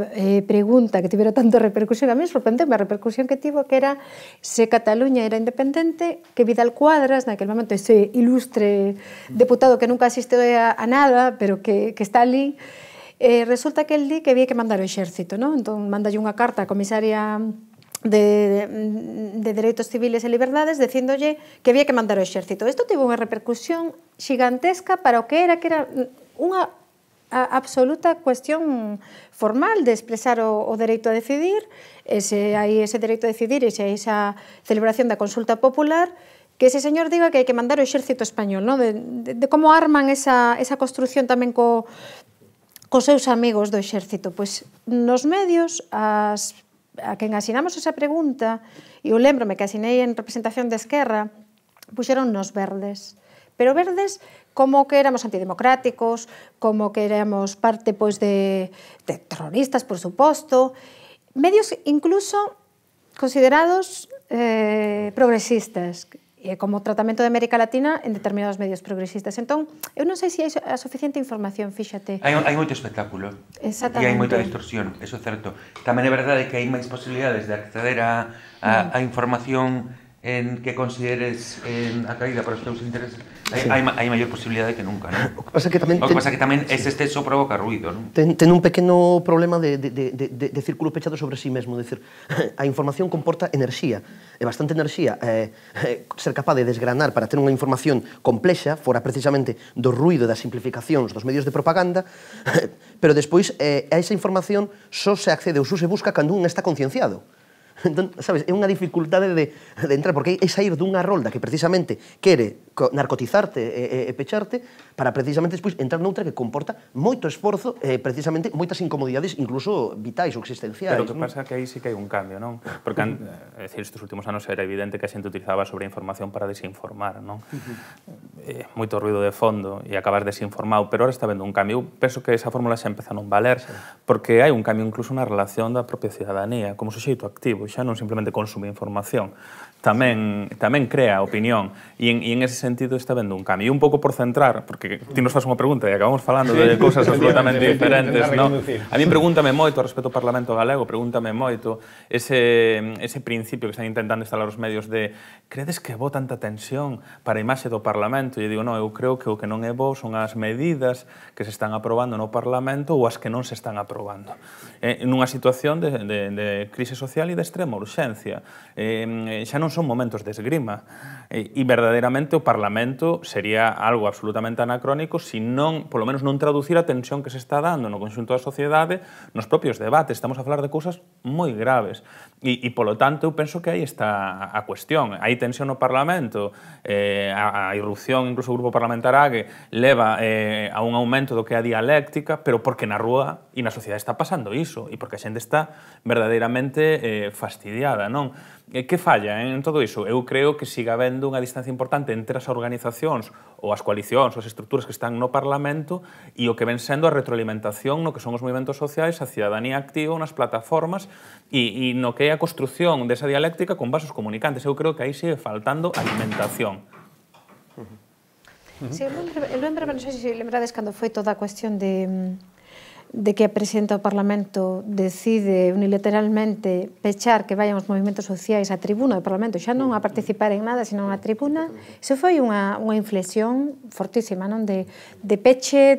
pregunta que tivera tanta repercusión, a mí sorprendeu a repercusión que tivo, que era se Cataluña era independente, que Vidal Cuadras, naquele momento ese ilustre deputado que nunca asistiu a nada, pero que está ali, resulta que el di que había que mandar o exército, non? Entón, mandalle unha carta á comisaria de Dereitos Civiles e Liberdades dicíndolle que había que mandar o exército. Isto tivo unha repercusión xigantesca para o que era unha absoluta cuestión formal de expresar o dereito a decidir, hai ese dereito a decidir e hai esa celebración da consulta popular, que ese señor diga que hai que mandar o exército español, ¿no? De como arman esa construción tamén cos seus amigos do exército. Pois nos medios, a quen asinamos esa pregunta, e eu lembrome que asinei en representación de Esquerra, puxeron nos verdes. Pero verdes como que éramos antidemocráticos, como que éramos parte de terroristas, por suposto. Medios incluso considerados progresistas, como tratamento de América Latina en determinados medios progresistas. Entón, eu non sei se hai a suficiente información, fíxate. Hai moito espectáculo. Exactamente. E hai moita distorsión, eso é certo. Tamén é verdade que hai máis posibilidades de acceder a información que consideres atraída para os teus intereses. Hai maior posibilidade que nunca, non? O que pasa que tamén ese exceso provoca ruido, non? Ten un pequeno problema de círculo pechado sobre sí mesmo. Decir, a información comporta enerxía, e bastante enerxía. Ser capaz de desgranar para ter unha información complexa, fora precisamente do ruido e das simplificacións dos medios de propaganda, pero despois a esa información só se accede ou só se busca cando un está concienciado. Entón, sabes, é unha dificultade de entrar, porque é sair dunha rolda que precisamente quere narcotizarte e pecharte para precisamente despois entrar noutra que comporta moito esforzo e precisamente moitas incomodidades incluso vitais ou existenciais. Pero o que pasa é que aí sí que hai un cambio, non? Porque, é dicir, estes últimos anos era evidente que a xente utilizaba a sobreinformación para desinformar, non? Moito ruido de fondo e acabar desinformado, pero ahora está vendo un cambio. Eu penso que esa fórmula xa empeza a non valer, porque hai un cambio incluso na relación da propia cidadanía como suxeito activo, xa non simplemente consume información, tamén crea opinión, e en ese sentido está vendo un cambio. E un pouco por centrar, porque ti nos faz unha pregunta e acabamos falando de cousas absolutamente diferentes, non? A mí pregúntame moito respecto ao Parlamento Galego, pregúntame moito ese principio que están intentando instalar os medios de credes que é bo tanta tensión para a imaxe do Parlamento? E eu digo, non, eu creo que o que non é bo son as medidas que se están aprobando no Parlamento ou as que non se están aprobando. Nunha situación de crise social e de extrema urxencia. Xa non son momentos de esgrima. E verdadeiramente o Parlamento sería algo absolutamente anacrónico se non, polo menos, non traducir a tensión que se está dando no conxunto da sociedade nos propios debates. Estamos a falar de cousas moi graves. E polo tanto, eu penso que aí está a cuestión. Hai tensión no Parlamento, a irrupción, incluso o grupo parlamentar AGE, leva a un aumento do que é a dialéctica, pero porque na rúa e na sociedade está pasando iso, e porque a xente está verdadeiramente fastidiada, non? Que falla en todo iso? Eu creo que siga habendo unha distancia importante entre as organizacións ou as coalicións ou as estruturas que están no Parlamento e o que ven sendo a retroalimentación no que son os movimentos sociais, a cidadanía activa nas plataformas e no que é a construción desa dialéctica con vasos comunicantes. Eu creo que aí sigue faltando alimentación. Sí, eu lembro, non sei se lembrades cando foi toda a cuestión de que a Presidenta do Parlamento decide unilateralmente pechar que vayan os movimentos sociais á tribuna do Parlamento, xa non a participar en nada, sino na tribuna, iso foi unha inflexión fortísima, non? De peche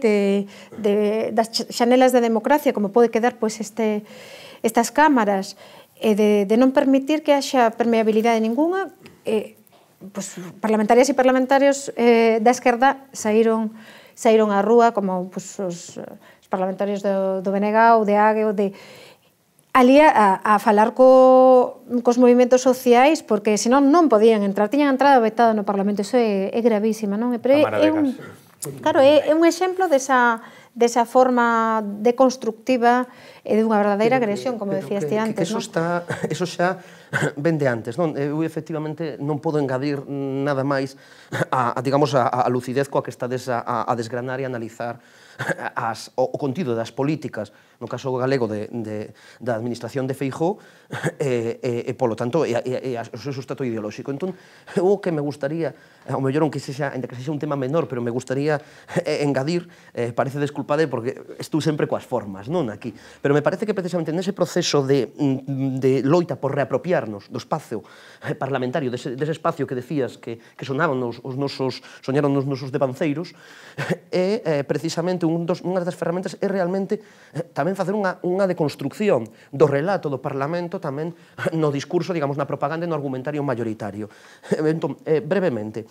das xanelas da democracia, como pode quedar estas cámaras, e de non permitir que haxa permeabilidade ninguna. Parlamentarias e parlamentarios da esquerda saíron á rúa, como os parlamentarios do BNG, de AGE, ali a falar cos movimentos sociais, porque senón non podían entrar, tiñan entrada vetada no Parlamento. Iso é gravísima, non? Claro, é un exemplo desa forma deconstructiva e dunha verdadeira agresión, como decías ti antes, non? Eso xa ven de antes, non? Eu efectivamente non podo engadir nada máis a lucidez coa que estades a desgranar e analizar o contido das políticas, no caso galego da administración de Feijóo, e polo tanto, o seu sustrato ideolóxico. Entón, o que me gustaría, ao mellor, aunque sexa un tema menor, pero me gustaría engadir, parece desculpade porque estou sempre coas formas, non aquí, pero me parece que precisamente nese proceso de loita por reapropiarnos do espacio parlamentario, dese espacio que decías que soñaron os nosos devanceiros, é precisamente unha das ferramentas é realmente tamén facer unha deconstrucción do relato do Parlamento tamén no discurso, digamos, na propaganda e no argumentario mayoritario. Entón, brevemente,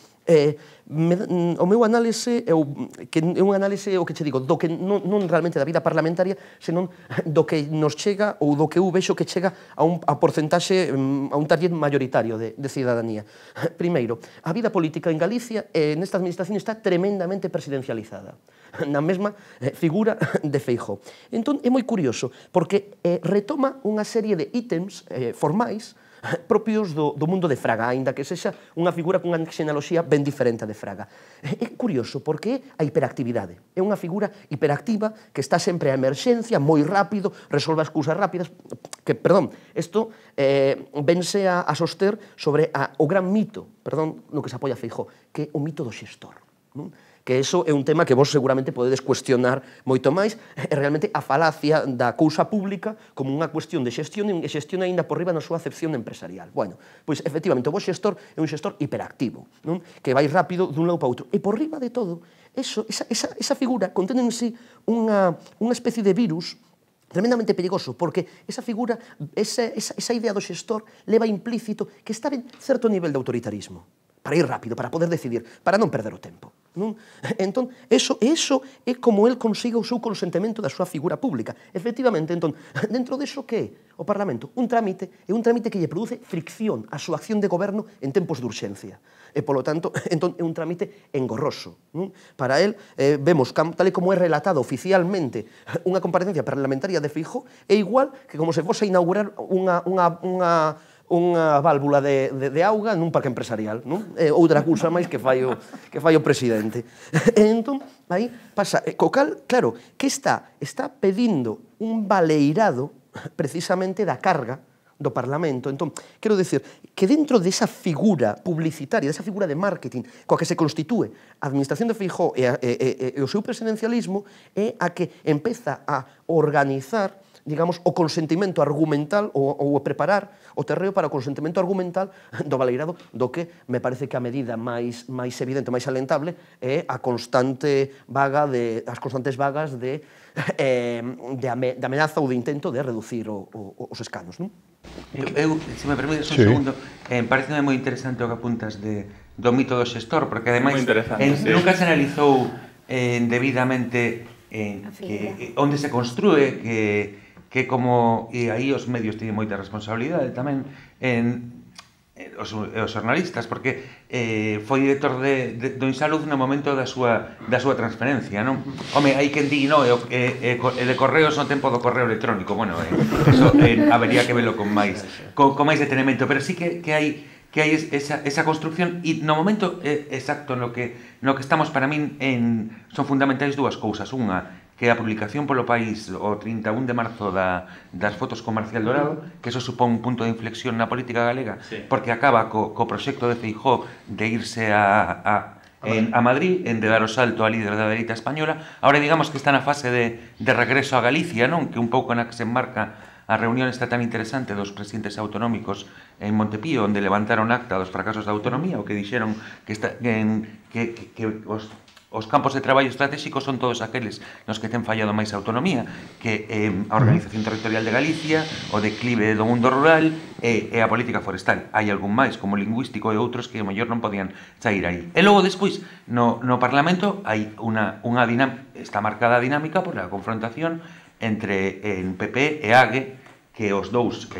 o meu análise é un análise, o que che digo, do que non realmente da vida parlamentaria, senón do que nos chega ou do que eu vexo que chega a porcentaxe, a un target mayoritario de cidadanía. Primeiro, a vida política en Galicia nesta administración está tremendamente presidencializada, na mesma figura de Feijóo. Entón, é moi curioso, porque retoma unha serie de ítems formais propios do mundo de Fraga, aínda que sexa unha figura cunha xenealoxía ben diferente de Fraga. É curioso, porque é a hiperactividade. É unha figura hiperactiva que está sempre a emerxencia, moi rápido, resolve as cousas rápidas, que, perdón, isto vense a soster sobre o gran mito, perdón, no que se apoia Feijóo, que é o mito do xestor, non? Que iso é un tema que vos seguramente podedes cuestionar moito máis, é realmente a falacia da cousa pública como unha cuestión de xestión e xestión aínda por riba na súa acepción empresarial. Bueno, pois efectivamente o vos xestor é un xestor hiperactivo, non? Que vai rápido dun lado para outro. E por riba de todo, esa figura contén en sí unha especie de virus tremendamente perigoso, porque esa figura, esa idea do xestor leva implícito que está en certo nivel de autoritarismo, para ir rápido, para poder decidir, para non perder o tempo. Entón, eso é como el consiga o seu consentimento da súa figura pública. Efectivamente, entón, dentro deso que é o Parlamento? Un trámite que lle produce fricción á súa acción de goberno en tempos de urxencia. E, polo tanto, entón, é un trámite engorroso. Para el, vemos, tal e como é relatado oficialmente unha comparecencia parlamentaria de Feijóo, é igual que como se fose a inaugurar unha válvula de auga nun parque empresarial, non? Outra cousa máis que fai o presidente. Entón, aí pasa, co cal, claro, que está pedindo un baleirado precisamente da carga do Parlamento. Entón, quero dicir que dentro desa figura publicitaria, desa figura de marketing coa que se constitúe a administración de Feijóo e o seu presidencialismo, é a que empeza a organizar, digamos, o consentimento argumental ou a preparar o terreo para o consentimento argumental do baleirado, do que me parece que a medida máis evidente, máis alentable, é as constantes vagas de amenaza ou de intento de reducir os escanos, non? Eu, se me permites un segundo, pareceme moi interesante o que apuntas do mito do xestor, porque ademais nunca se analizou debidamente onde se construe, que como, e aí os medios teñen moita responsabilidade tamén, os xornalistas, porque foi director do Insalud no momento da súa transferencia, non? Home, hai quen di, no, e de correos no tempo do correo electrónico, bueno, eso habería que velo con máis detenimento, pero sí que hai esa construcción, e no momento exacto no que estamos, para min son fundamentais dúas cousas. Unha, que a publicación polo País o 31 de marzo das fotos con Marcial Dorado, que eso supón un punto de inflexión na política galega, porque acaba co proxecto de Feijóo de irse a a Madrid, de dar o salto a líder da dereita española. Ahora digamos que está na fase de regreso a Galicia, non? Que un pouco na que se enmarca a reunión está tan interesante dos presidentes autonómicos en Montepío, onde levantaron acta dos fracasos da autonomía, o que dixeron que os campos de traballo estratégicos son todos aqueles nos que ten fallado máis a autonomía, que a organización territorial de Galicia, o declive do mundo rural e a política forestal. Hai algún máis, como lingüístico e outros que, ao mellor, non podían sair aí. E logo, despois, no Parlamento hai unha dinámica, está marcada a dinámica por a confrontación entre PP e AGE, que os dous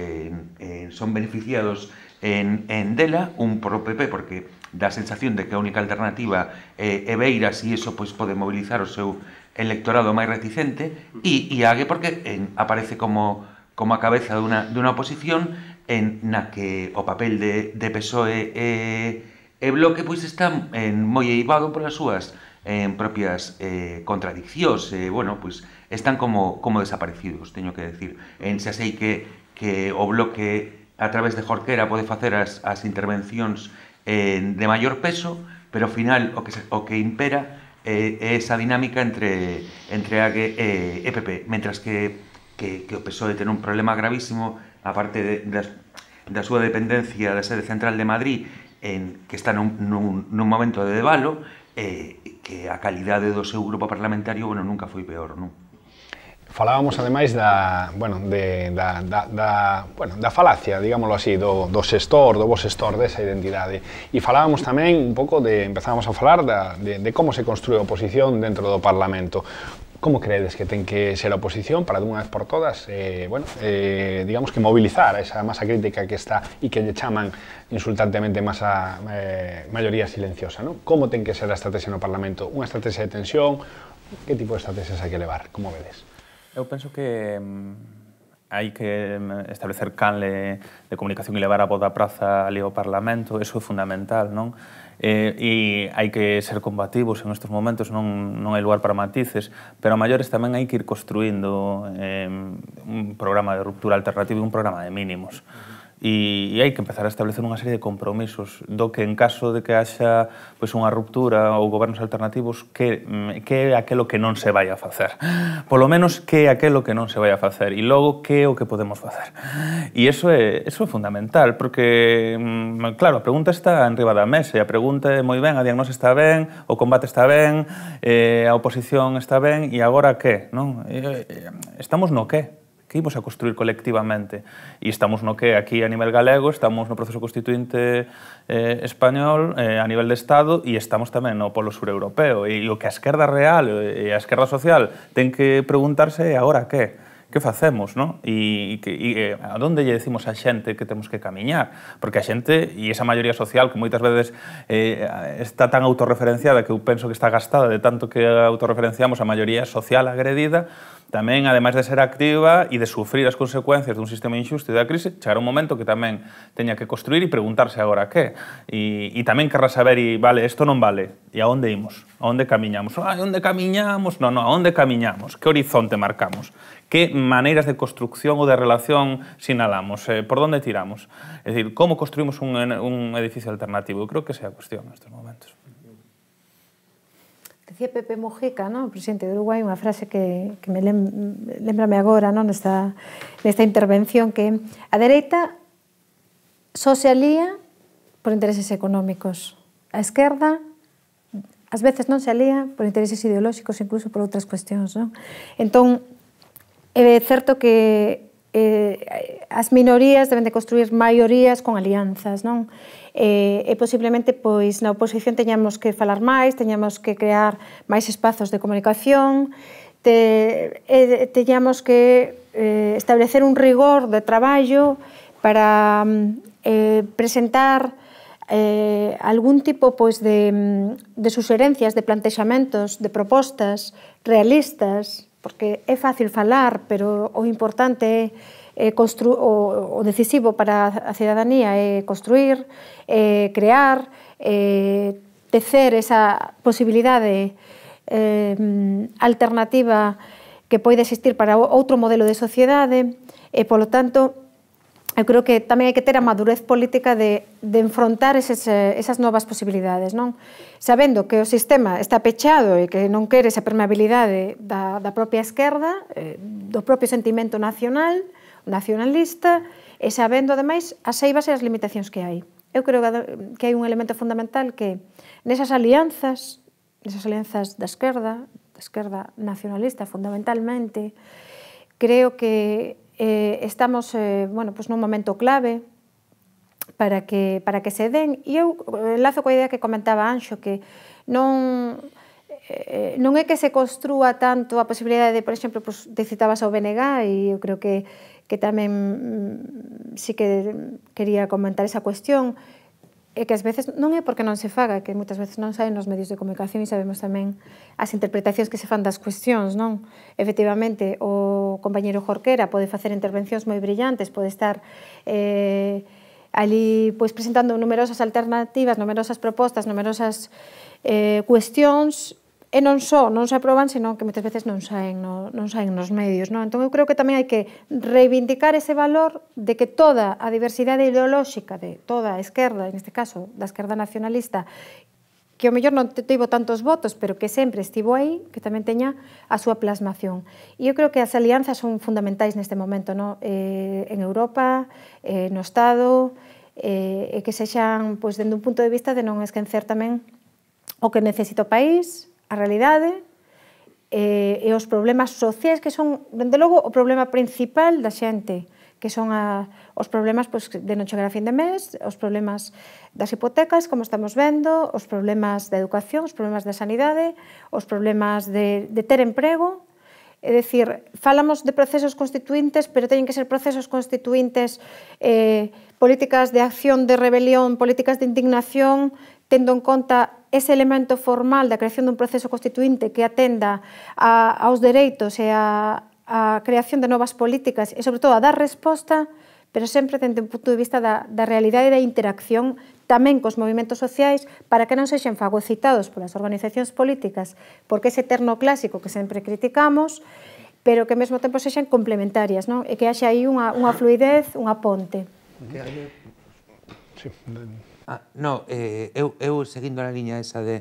son beneficiados en dela, un por o PP, porque dá a sensación de que a única alternativa é Beiras e iso pode mobilizar o seu electorado máis reticente, e AGE porque aparece como a cabeza dunha oposición na que o papel de PSOE e Bloque está moi eivado polas súas propias contradiccións, están como desaparecidos, teño que decir. Xa sei que o Bloque a través de Jorquera pode facer as intervencións de maior peso, pero ao final o que impera é esa dinámica entre AGE e PP, mentras que o PSOE ten un problema gravísimo, aparte da súa dependencia da sede central de Madrid, que está nun momento de debalo, que a calidade do seu grupo parlamentario nunca foi peor, non? Falábamos, ademais, da falacia, digámoslo así, do xestor, do bo xestor desa identidade. E falábamos tamén un pouco empezábamos a falar de como se construe a oposición dentro do Parlamento. Como credes que ten que ser a oposición para, dunha vez por todas, digamos que mobilizar esa masa crítica que está e que lle chaman insultantemente maioría silenciosa, non? Como ten que ser a estrategia no Parlamento? Unha estrategia de tensión? Que tipo de estrategias hai que levar? Como vedes? Eu penso que hai que establecer canle de comunicación e levar a voz da praza ali ao Parlamento, eso é fundamental, non? E hai que ser combativos en estes momentos, non hai lugar para matices, pero a maiores tamén hai que ir construindo un programa de ruptura alternativo e un programa de mínimos. E hai que empezar a establecer unha serie de compromisos do que en caso de que haxa unha ruptura ou gobernos alternativos, que é aquelo que non se vai a facer. Polo menos que é aquelo que non se vai a facer e logo que é o que podemos facer. E iso é fundamental, porque, claro, a pregunta está enriba da mesa e a pregunta é moi ben, a diagnose está ben, o combate está ben, a oposición está ben e agora que? Estamos no que? Que imos a construir colectivamente. E estamos no que aquí a nivel galego, estamos no proceso constituinte español a nivel de Estado e estamos tamén no polo sur europeo. E o que a esquerda real e a esquerda social ten que preguntarse é agora que? Que facemos, non? E a onde lle decimos a xente que temos que camiñar? Porque a xente, e esa maioría social que moitas veces está tan autorreferenciada que eu penso que está gastada de tanto que autorreferenciamos a maioría social agredida, tamén, ademais de ser activa e de sufrir as consecuencias dun sistema injusto e da crise, chegará un momento que tamén teña que construir e preguntarse agora que. E tamén querrá saber, vale, isto non vale, e a onde imos? A onde camiñamos? A onde camiñamos? Non, a onde camiñamos? Que horizonte marcamos? Que maneiras de construcción ou de relación sinalamos? Por onde tiramos? É dicir, como construímos un edificio alternativo? Eu creo que esa é a cuestión nestes momentos. Decía Pepe Mujica, o presidente de Uruguai, unha frase que me lembrame agora nesta intervención, que a dereita só se alía por intereses económicos. A esquerda ás veces non se alía por intereses ideolóxicos, incluso por outras cuestións. Entón, é certo que as minorías deben de construir maiorías con alianzas, non? E posiblemente na oposición teñamos que falar máis, teñamos que crear máis espazos de comunicación, teñamos que establecer un rigor de traballo para presentar algún tipo de suxerencias, de plantexamentos, de propostas realistas, porque é fácil falar, pero o importante é o decisivo para a cidadanía é construir, crear, tecer esa posibilidade alternativa que pode existir para outro modelo de sociedade e, polo tanto, eu creo que tamén hai que ter a madurez política de enfrontar esas novas posibilidades, non? Sabendo que o sistema está pechado e que non quere esa permeabilidade da propia esquerda, do propio sentimento nacionalista, e sabendo, ademais, as eivas e as limitacións que hai. Eu creo que hai un elemento fundamental que nesas alianzas da esquerda nacionalista, fundamentalmente, creo que estamos nun momento clave para que se den, e eu enlazo coa idea que comentaba Anxo, que non é que se construa tanto a posibilidade de, por exemplo, te citabas ao BNG, e eu creo que tamén sí que quería comentar esa cuestión, é que ás veces non é porque non se faga, que moitas veces non saen nos medios de comunicación e sabemos tamén as interpretacións que se fan das cuestións, non? Efectivamente, o compañeiro Jorquera pode facer intervencións moi brillantes, pode estar ali presentando numerosas alternativas, numerosas propostas, numerosas cuestións, e non se aproban, senón que moitas veces non saen nos medios, non? Entón, eu creo que tamén hai que reivindicar ese valor de que toda a diversidade ideolóxica de toda a esquerda, neste caso da esquerda nacionalista, que ao mellor non tivo tantos votos, pero que sempre estivo aí, que tamén teña a súa plasmación. E eu creo que as alianzas son fundamentais neste momento, non? En Europa, no Estado, e que sexan, dende un punto de vista de non esquecer tamén o que necesita o país, a realidade e os problemas sociais que son, dende logo, o problema principal da xente, que son os problemas de non chegar a fin de mes, os problemas das hipotecas, como estamos vendo, os problemas da educación, os problemas da sanidade, os problemas de ter emprego. É dicir, falamos de procesos constituíntes, pero teñen que ser procesos constituíntes, políticas de acción, de rebelión, políticas de indignación, tendo en conta ese elemento formal da creación dun proceso constituinte que atenda aos dereitos e a creación de novas políticas e, sobre todo, a dar resposta, pero sempre dende un punto de vista da realidade e da interacción tamén cos movimentos sociais para que non sexan fagocitados polas organizacións políticas, porque ese terno clásico que sempre criticamos, pero que ao mesmo tempo sexan complementarias, non? E que haxa aí unha fluidez, unha ponte. Sí. Eu seguindo na liña esa de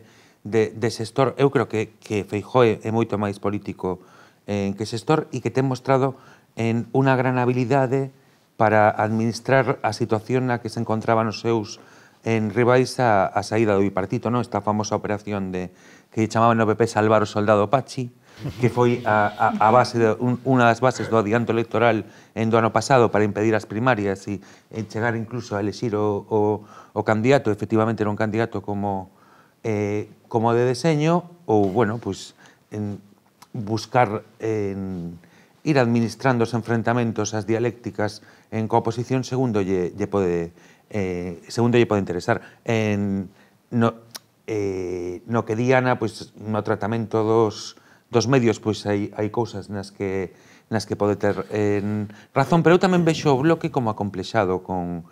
Sestor, eu creo que Feijóo é moito máis político que Sestor e que ten mostrado en unha gran habilidade para administrar a situación na que se encontraban os seus en rivais a saída do bipartito, non? Esta famosa operación que chamaban no PP salvar o soldado Pachi, que foi unha das bases do adianto electoral do ano pasado para impedir as primarias e chegar incluso a elexir o candidato, efectivamente era un candidato como de deseño, ou, bueno, buscar ir administrando os enfrentamentos, as dialécticas en cooposición segundo lle pode interesar. No que di Ana, no tratamento dos medios, hai cousas nas que pode ter razón, pero eu tamén vexo o Bloque como acomplexado con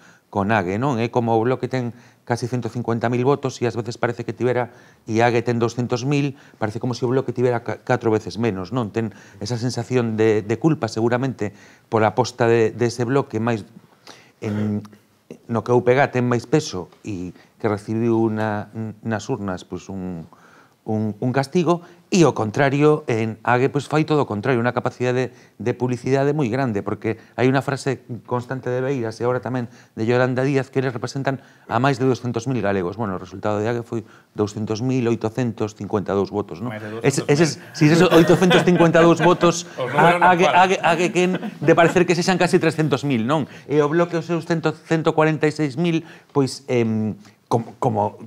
Ague, non? É como o Bloque ten casi 150.000 votos e ás veces parece que tivera, e Ague ten 200.000, parece como se o Bloque tivera 4 veces menos, non? Ten esa sensación de culpa, seguramente, por a aposta dese Bloque máis no que o UPG ten máis peso e que recibiu nas urnas un castigo, e ao contrario, en Ague fai todo o contrario, unha capacidade de publicidade moi grande, porque hai unha frase constante de Beiras e agora tamén de Yolanda Díaz que eles representan a máis de 200.000 galegos. Bueno, o resultado de Ague foi 200.852 votos, non? Si eses 852 votos, Ague quen de parecer que sexan casi 300.000, non? E o Bloque os seus 146.000,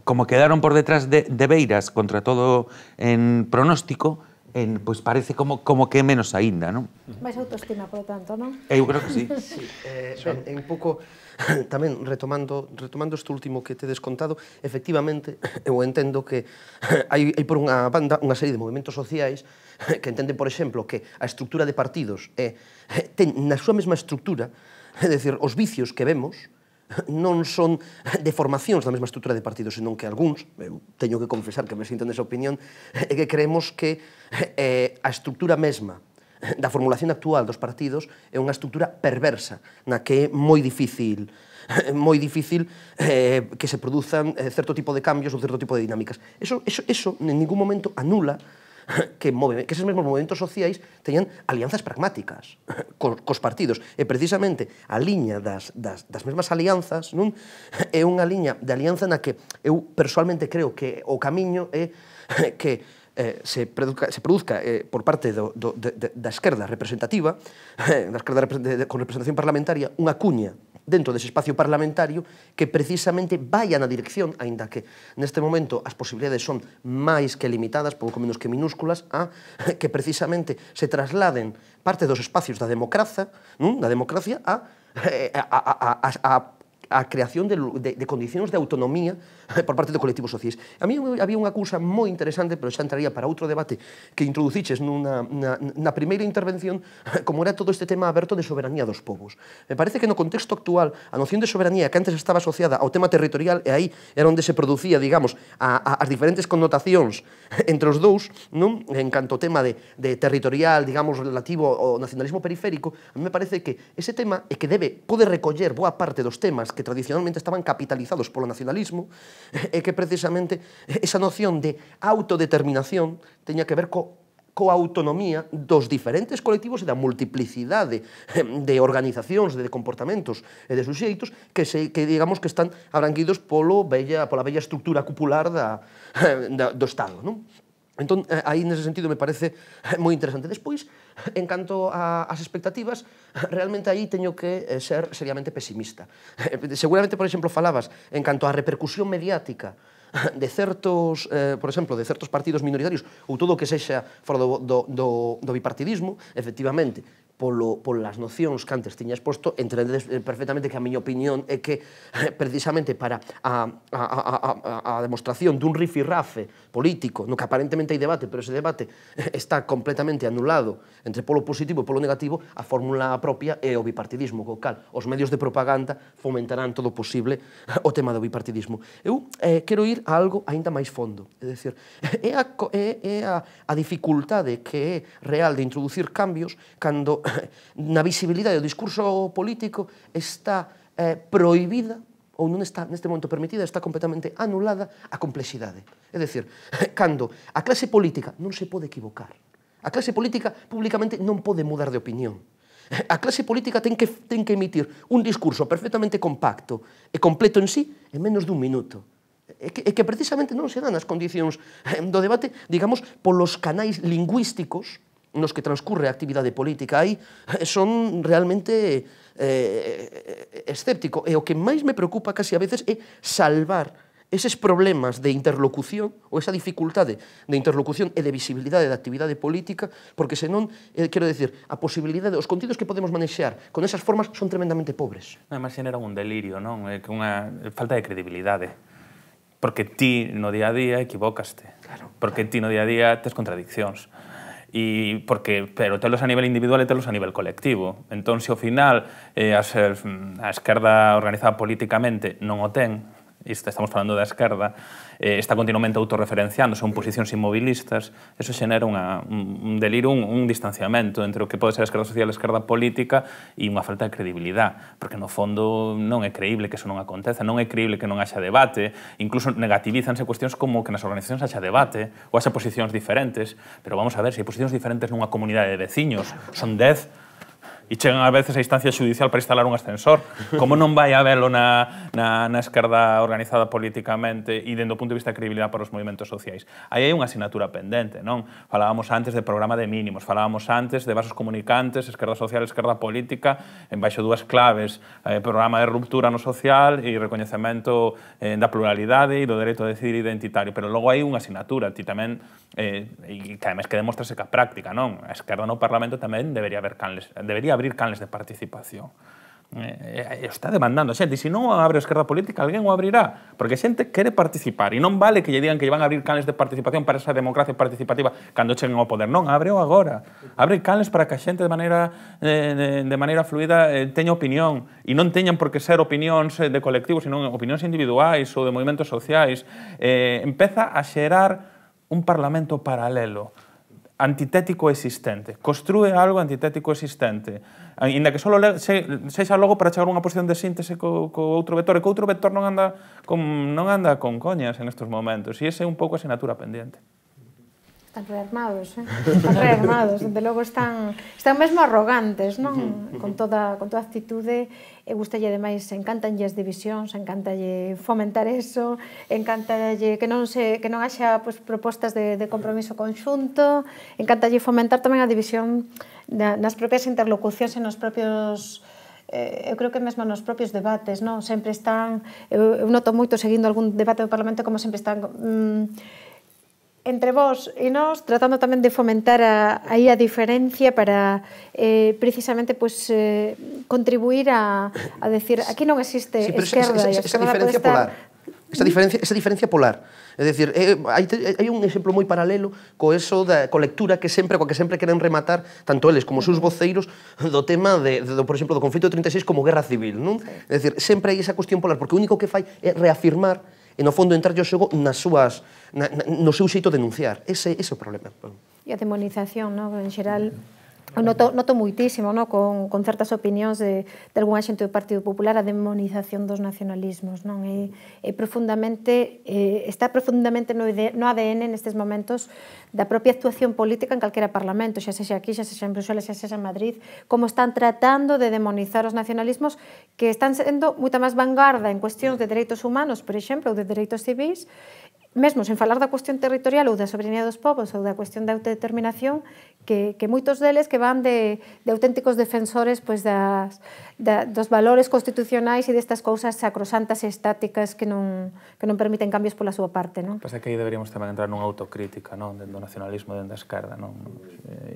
como quedaron por detrás de Beiras contra todo en pronóstico, parece como que é menos aínda, non? Mais autoestima, por tanto, non? Eu creo que sí. Un pouco, tamén, retomando este último que tedes contado, efectivamente, eu entendo que hai por unha banda unha serie de movimentos sociais que entenden, por exemplo, que a estrutura de partidos ten na súa mesma estrutura, é dicir, os vicios que vemos non son deformacións da mesma estrutura de partidos, senón que algúns, eu teño que confesar que me sinto nesa opinión, é que creemos que a estrutura mesma da formulación actual dos partidos é unha estrutura perversa, na que é moi difícil que se produzan certo tipo de cambios ou certo tipo de dinámicas. Eso en ningún momento anula que eses mesmos movimentos sociais teñan alianzas pragmáticas cos partidos. E precisamente a liña das mesmas alianzas é unha liña de alianza na que eu persoalmente creo que o camiño é que se produzca por parte da esquerda representativa, da esquerda con representación parlamentaria, unha cuña dentro dese espacio parlamentario que precisamente vai na dirección, aínda que neste momento as posibilidades son máis que limitadas, pouco menos que minúsculas, a que precisamente se trasladen parte dos espacios da democracia a creación de condicións de autonomía por parte do colectivo sociais. A mí había unha cousa moi interesante, pero xa entraría para outro debate que introduciches na primeira intervención, como era todo este tema aberto de soberanía dos povos. Me parece que no contexto actual a noción de soberanía que antes estaba asociada ao tema territorial, e aí era onde se producía, digamos, as diferentes connotacións entre os dous, en canto ao tema de territorial, digamos, relativo ao nacionalismo periférico, a mí me parece que ese tema é que pode recoller boa parte dos temas que tradicionalmente estaban capitalizados polo nacionalismo, e que precisamente esa noción de autodeterminación teña que ver coa autonomía dos diferentes colectivos e da multiplicidade de organizacións, de comportamentos e de suxeitos que digamos que están abranguidos pola bella estructura cupular do Estado, non? Entón, aí, nese sentido, me parece moi interesante. Despois, en canto ás expectativas, realmente aí teño que ser seriamente pesimista. Seguramente, por exemplo, falabas en canto á repercusión mediática de certos, por exemplo, de certos partidos minoritarios ou todo o que sexa fora do bipartidismo, efectivamente, polas nocións que antes tiña exposto, entendedes perfectamente que a miña opinión é que precisamente para a demostración dun rifirrafe político, no que aparentemente hai debate, pero ese debate está completamente anulado entre polo positivo e polo negativo, a fórmula propia é o bipartidismo, co cal os medios de propaganda fomentarán todo o posible o tema do bipartidismo. Eu quero ir a algo aínda máis fondo, é dicir, é a dificultade que é real de introducir cambios cando na visibilidade do discurso político está prohibida ou non está neste momento permitida, está completamente anulada a complexidade. É dicir, cando a clase política non se pode equivocar, a clase política públicamente non pode mudar de opinión, a clase política ten que emitir un discurso perfectamente compacto e completo en sí en menos dun minuto. E que precisamente non se dan as condicións do debate, digamos, polos canais lingüísticos nos que transcurre a actividade política. Aí son realmente escéptico, e o que máis me preocupa casi a veces é salvar eses problemas de interlocución ou esa dificultade de interlocución e de visibilidade da actividade política, porque senón, quero decir, a posibilidade, os contidos que podemos manexar con esas formas son tremendamente pobres. Además, xenera un delirio, non? É que unha falta de credibilidade. Porque ti no día a día equivocaste. Porque ti no día a día tes contradiccións. Pero telos a nivel individual e telos a nivel colectivo. Entón, se ao final a esquerda organizada políticamente non o ten, estamos falando da esquerda, está continuamente autorreferenciándose en posicións inmobilistas, eso xenera un delirio, un distanciamento entre o que pode ser a esquerda social e a esquerda política e unha falta de credibilidade, porque no fondo non é creíble que eso non acontece, non é creíble que non haxa debate, incluso negativízanse cuestións como que nas organizacións haxa debate ou haxa posicións diferentes, pero vamos a ver, se hai posicións diferentes nunha comunidade de veciños, son 10, e chegan a veces a instancia judicial para instalar un ascensor. Como non vai habelo na esquerda organizada políticamente e dende o punto de vista de credibilidade para os movimentos sociais? Aí hai unha asignatura pendente, non? Falábamos antes de programa de mínimos, falábamos antes de vasos comunicantes, esquerda social e esquerda política, en baixo dúas claves, programa de ruptura no social e recoñecemento da pluralidade e do dereito a decidir identitario. Pero logo hai unha asignatura, ti tamén, e que además que demostrase que a práctica, non? A esquerda no Parlamento tamén debería abrir canles de participación. Está demandando a xente, e se non abre a esquerda política, alguén o abrirá, porque a xente quere participar, e non vale que lle digan que lle van a abrir canles de participación para esa democracia participativa cando cheguen ao poder. Non, ábreo agora. Abre canles para que a xente de maneira fluida teña opinión, e non teñan por que ser opinións de colectivos, sino opinións individuais ou de movimentos sociais. Empeza a xerar un parlamento paralelo. antitético existente, construe algo antitético existente, ainda que só sexa logo para chegar a unha posición de síntese co outro vector, e co outro vector non anda con coñas en estes momentos, e ese é un pouco a asignatura pendiente. Están rearmados, están rearmados, desde logo están mesmo arrogantes, non? Con toda actitude, e gustalle ademais, encantanlle as divisións, encantalle fomentar eso, encantalle que non haxa propostas de compromiso conxunto, encantalle fomentar tamén a división nas propias interlocucións e nos propios eu creo que mesmo nos propios debates, non? Sempre están, eu noto moito seguindo algún debate do Parlamento como sempre están entre vós e nós, tratando tamén de fomentar aí a diferencia para precisamente contribuir a decir, aquí non existe esquerda e a esquerda pode estar... Esa diferencia polar. É dicir, hai un exemplo moi paralelo co eso coa lectura que sempre queren rematar tanto eles como os seus voceiros do tema por exemplo, do conflito de 36 como guerra civil, non? É dicir, sempre hai esa cuestión polar, porque o único que fai é reafirmar e no fondo entrar yo xogo no seu xeito de denunciar. Ese é o problema. E a demonización, en xeral, noto moitísimo con certas opinións de algún xente do Partido Popular a demonización dos nacionalismos. Está profundamente no ADN nestes momentos da propia actuación política en calquera parlamento, xa sexa aquí, xa sexa en Bruxelas, xa sexa en Madrid, como están tratando de demonizar os nacionalismos que están sendo moita máis vanguarda en cuestións de dereitos humanos, por exemplo, ou de dereitos civis, mesmo sen falar da cuestión territorial ou da soberanía dos povos ou da cuestión da autodeterminación, que moitos deles que van de auténticos defensores dos valores constitucionais e destas cousas sacrosantas e estáticas que non permiten cambios pola súa parte. Pasa que aí deberíamos tamén entrar nunha autocrítica dentro do nacionalismo, dentro da esquerda,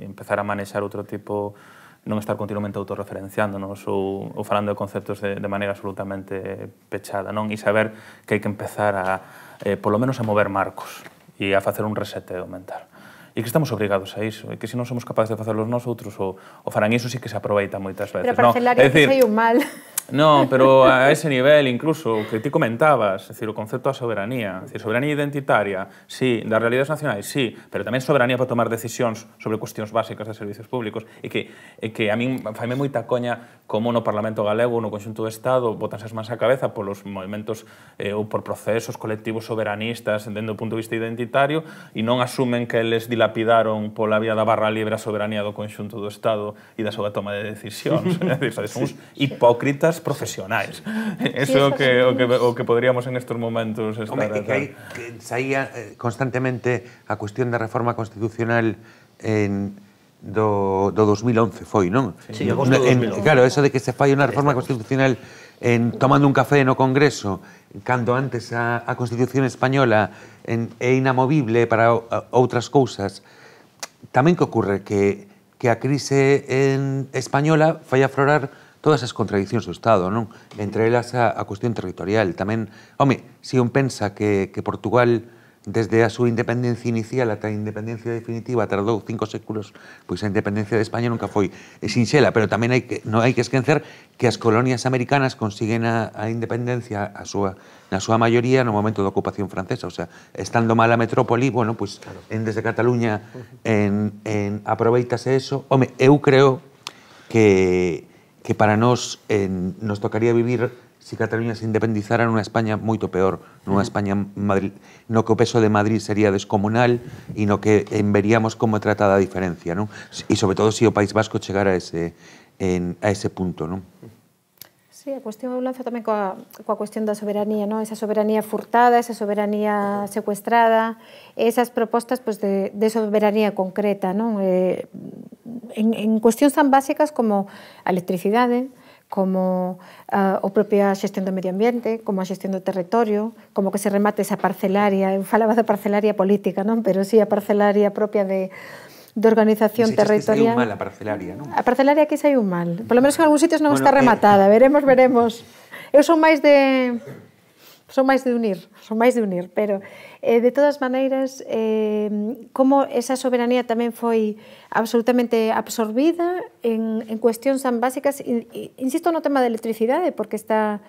empezar a manexar outro tipo, non estar continuamente autorreferenciándonos ou falando de conceptos de maneira absolutamente pechada, e saber que hai que empezar polo menos a mover marcos e a facer un reseteo mental. E que estamos obrigados a iso, e que se non somos capaces de facerlos nós outros, o farán iso sí que se aproveita moitas veces. Pero parcelaria que sei un mal. Non, pero a ese nivel, incluso, o que ti comentabas, é dicir, o concepto da soberanía, soberanía identitaria, sí, das realidades nacionais, sí, pero tamén soberanía para tomar decisións sobre cuestións básicas de servicios públicos, e que a min faime moita coña como no Parlamento Galego ou no conxunto do Estado botanse as mans á cabeza polos movimentos ou por procesos colectivos soberanistas dentro do punto de vista identitario e non asumen que eles dilapidaron pola vía da barra libre a soberanía do conxunto do Estado e da súa toma de decisións. É dicir, somos hipócritas profesionais. Eso é o que poderíamos en estes momentos estar... Que saía constantemente a cuestión da reforma constitucional do 2011 foi, non? Sí, agosto do 2011. Claro, eso de que se fai unha reforma constitucional tomando un café no Congreso, cando antes a Constitución española é inamovible para outras cousas. Tamén que ocorre que a crise española fai aflorar todas as contradicións do Estado, non? Entre elas a cuestión territorial. Tamén, se un pensa que Portugal, desde a súa independencia inicial ata a independencia definitiva, tardou 5 séculos, pois a independencia de España nunca foi sinxela, pero tamén non hai que esquecer que as colonias americanas consiguen a independencia na súa maioría no momento da ocupación francesa, o sea, estando mal a metrópoli, bueno, pois desde Cataluña aproveitase eso. Eu creo que para nós nos tocaría vivir, se Cataluña se independizara, nunha España moito peor, nunha España no que o peso de Madrid sería descomunal e no que veríamos como é tratada a diferencia, non? E sobre todo se o País Vasco chegara a ese punto, non? Sí, a cuestión eu lanzo tamén coa cuestión da soberanía, non? Esa soberanía furtada, esa soberanía secuestrada, esas propostas de soberanía concreta, non? En cuestións tan básicas como a electricidade, como a propia xestión do medio ambiente, como a xestión do territorio, como que se remate esa parcelaria, eu falaba da parcelaria política, non? Pero sí, a parcelaria propia de organización territorial. Saiu mal a parcelaria, non? A parcelaria aquí saiu mal. Por lo menos en algúns sitios non está rematada. Veremos. Eu son máis de unir, pero de todas maneiras, como esa soberanía tamén foi absolutamente absorbida en cuestións tan básicas, insisto no tema da electricidade, porque está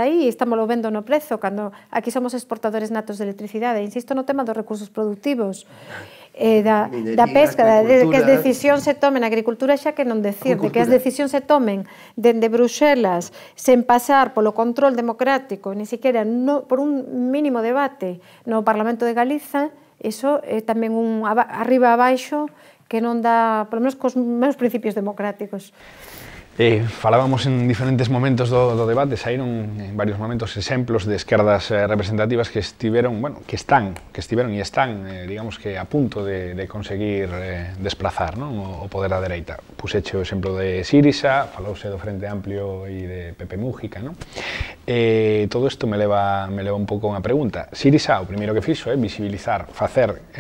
aí, estamos vendo no prezo, cando aquí somos exportadores natos de electricidade, insisto no tema dos recursos productivos, da pesca, que as decisións se tomen na agricultura, xa que non decir, de que as decisións se tomen dende Bruxelas sen pasar polo control democrático, ni siquiera por un mínimo debate no Parlamento de Galiza, iso é tamén un arriba abaixo que non dá, polo menos cos meus principios democráticos. Falábamos en diferentes momentos do debate, saíron en varios momentos exemplos de esquerdas representativas que estiveron, bueno, que estiveron e están, digamos que a punto de conseguir desplazar, non, o poder da dereita. Puseche o exemplo de Sirisa, falouse do Frente Amplio e de Pepe Mújica, non? Todo isto me leva un pouco a unha pregunta. Sirisa, o primeiro que fixo é visibilizar, facer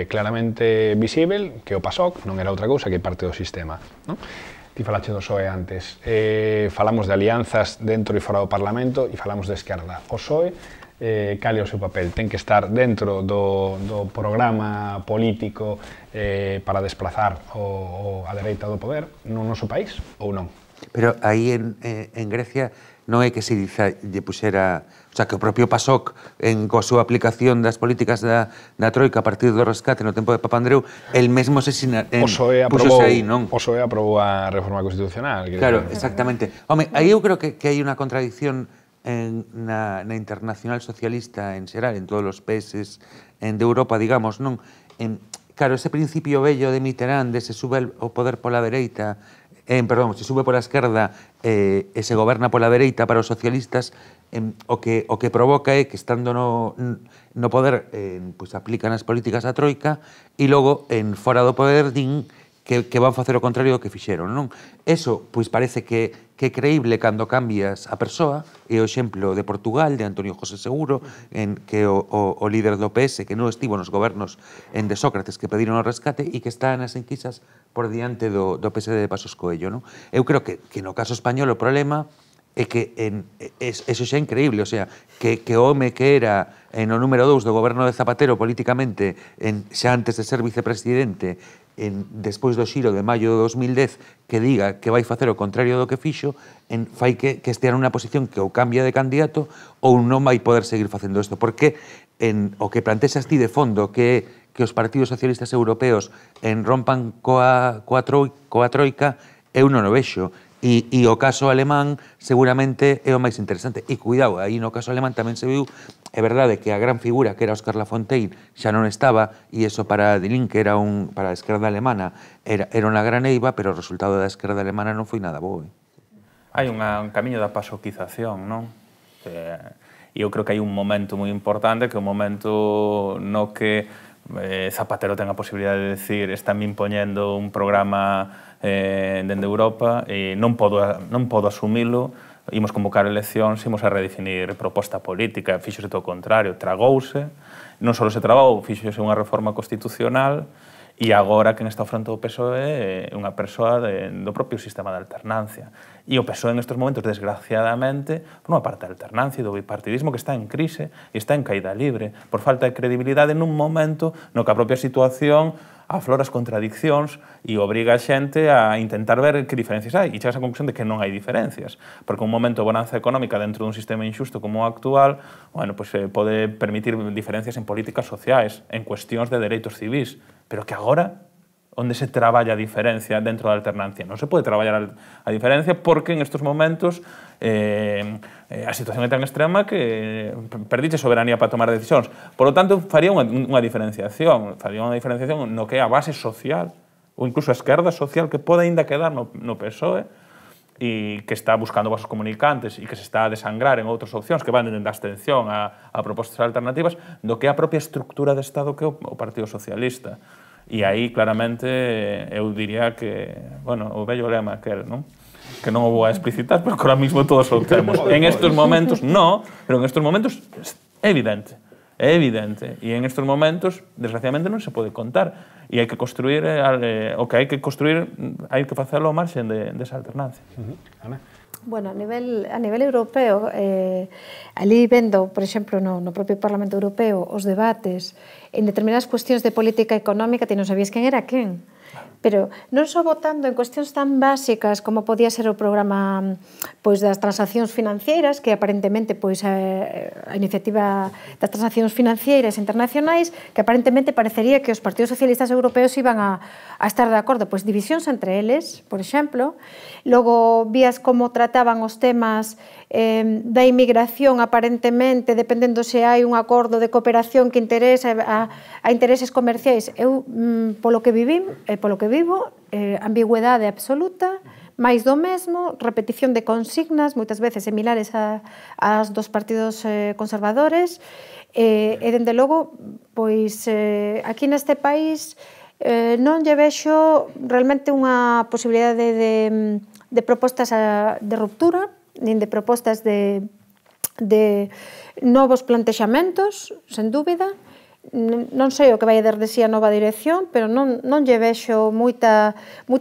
claramente visível que o PASOK non era outra cousa que parte do sistema, non? Ti falache do PSOE antes, falamos de alianzas dentro e fora do Parlamento e falamos de esquerda. O PSOE, cal é o seu papel? Ten que estar dentro do programa político para desplazar a dereita do poder no noso país ou non? Pero aí en Grecia non é que se lle puxera, o sea, que o propio PASOK coa súa aplicación das políticas da Troika a partir do rescate no tempo de Papandreou, el mesmo puxose aí, non? O PSOE aprobou a reforma constitucional. Claro, exactamente. Home, aí eu creo que hai unha contradicción na internacional socialista en xeral, en todos os países de Europa, digamos, non? Claro, ese principio bello de Mitterrand, de se sube o poder pola dereita, se sube pola esquerda e se goberna pola dereita para os socialistas, o que provoca é que estando no poder aplican as políticas da Troika e logo fora do poder din que van facer o contrario do que fixeron, non? Eso, pois parece que é creíble cando cambias a persoa, e o exemplo de Portugal, de Antonio José Seguro, que o líder do PS, que non estivo nos gobernos de Sócrates, que pediron o rescate e que está nas enquisas por diante do PSD de Pasos Coello, non? Eu creo que no caso español o problema é que eso xa é increíble, o sea, que o home que era no número 2 do goberno de Zapatero políticamente, xa antes de ser vicepresidente, despois do xiro de maio de 2010, que diga que vai facer o contrario do que fixo, fai que estea nunha posición que ou cambia de candidato ou non vai poder seguir facendo isto, porque o que plantexas ti de fondo, que os partidos socialistas europeos rompan coa troika, eu non o vexo. E o caso alemán seguramente é o máis interesante. E cuidado, aí no caso alemán tamén se viu, é verdade que a gran figura que era Óscar Lafontaine xa non estaba, e iso para Die Linke para a esquerda alemana era unha gran eiva, pero o resultado da esquerda alemana non foi nada bo. Hai un camiño da pasoquización, non? E eu creo que hai un momento moi importante, que é o momento no que Zapatero ten a posibilidade de decir están me impoñendo un programa dende Europa e non podo asumilo, imos convocar eleccións, imos a redefinir proposta política, fíxose todo o contrario, tragouse, non só se trabou, fíxose unha reforma constitucional e agora quen está ao fronte do PSOE é unha persoa do propio sistema de alternancia. E o PSOE en estes momentos, desgraciadamente, por unha parte da alternancia e do bipartidismo que está en crise e está en caída libre, por falta de credibilidade nun momento no que a propia situación aflora as contradiccións e obriga a xente a intentar ver que diferencias hai. E chegas a conclusión de que non hai diferencias. Porque un momento de bonanza económica dentro dun sistema injusto como o actual, bueno, pues, pode permitir diferencias en políticas sociais, en cuestións de dereitos civís, pero que agora, onde se traballa a diferencia dentro da alternancia? Non se pode traballar a diferencia porque en estes momentos a situación é tan extrema que perdiche soberanía para tomar decisións. Por lo tanto, faría unha diferenciación no que é a base social, ou incluso a esquerda social que pode ainda quedar no PSOE e que está buscando vasos comunicantes e que se está a desangrar en outras opcións que van da abstención a propostas alternativas do que é a propia estructura de Estado que é o Partido Socialista. E aí, claramente, eu diría que, bueno, o vello lema aquel, non? Que non o vou a explicitar, pero que ahora mismo todos o temos. En estes momentos, non, pero en estes momentos é evidente. É evidente. E en estes momentos, desgraciadamente, non se pode contar. E hai que construir, o que hai que construir, hai que facelo ao marxen desa alternancia. Ana? Bueno, a nivel europeo, ali vendo, por exemplo, no propio Parlamento Europeo, os debates en determinadas cuestións de política económica, ti non sabías quen era quen. pero non só votando en cuestións tan básicas como podía ser o programa das transaccións financeiras, que aparentemente a iniciativa das transaccións financeiras internacionais, que aparentemente parecería que os partidos socialistas europeos iban a estar de acordo, pois divisións entre eles, por exemplo, logo vías como trataban os temas da inmigración, aparentemente, dependendo se hai un acordo de cooperación que interesa a intereses comerciais. Eu, polo que vivo, ambigüedade absoluta, máis do mesmo, repetición de consignas, moitas veces similares ás dos partidos conservadores, e, dende logo, pois, aquí neste país non lle vexo realmente unha posibilidade de propostas de ruptura, nin de propostas de novos plantexamentos, sen dúbida. Non sei o que vai a dar de si a nova dirección, pero non lle vexo moita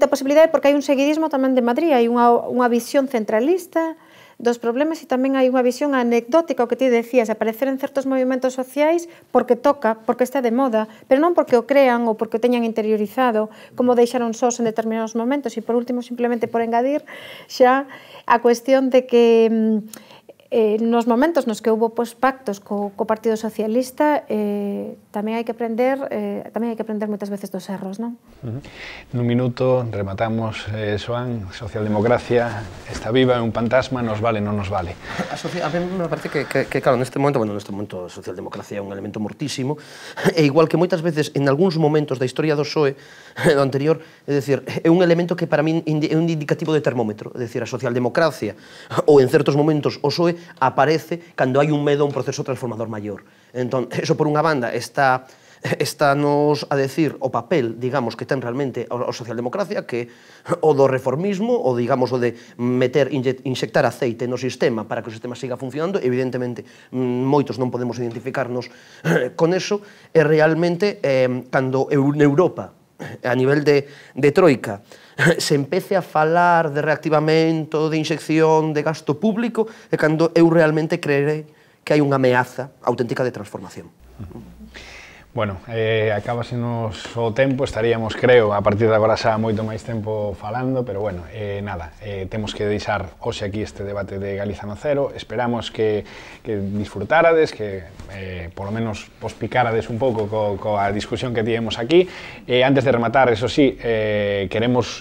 posibilidade, porque hai un seguidismo tamén de Madrid, hai unha visión centralista dos problemas e tamén hai unha visión anecdótica, o que ti decías, aparecer en certos movimentos sociais porque toca, porque está de moda, pero non porque o crean ou porque o teñan interiorizado, como deixaron sós en determinados momentos. E por último, simplemente por engadir xa a cuestión de que nos momentos nos que houve pactos co Partido Socialista tamén hai que aprender moitas veces dos erros, non? Nun minuto rematamos, Xoán, socialdemocracia está viva, é un fantasma, nos vale, non nos vale. A mí me parece que claro, neste momento a socialdemocracia é un elemento mortísimo, e igual que moitas veces en algúns momentos da historia do PSOE, do anterior, é dicir, é un elemento que para min é un indicativo de termómetro, é dicir, a socialdemocracia, ou en certos momentos o PSOE, aparece cando hai un medo a un proceso transformador maior. Entón, eso por unha banda está nos a decir o papel, digamos, que ten realmente a socialdemocracia, que o do reformismo, o digamos o de inxectar aceite no sistema para que o sistema siga funcionando. Evidentemente, moitos non podemos identificarnos con eso, e realmente, cando en Europa, a nivel de troika, se empece a falar de reactivamento, de inxección, de gasto público, é cando eu realmente creerei que hai unha ameaza auténtica de transformación. Bueno, acábasenos o tempo, estaríamos, creo, a partir de agora xa moito máis tempo falando, pero bueno, nada, temos que deixar hoxe aquí este debate de Galiza no Cero. Esperamos que disfrutárades, que polo menos vos picárades un pouco coa discusión que tivemos aquí. Antes de rematar, eso sí, queremos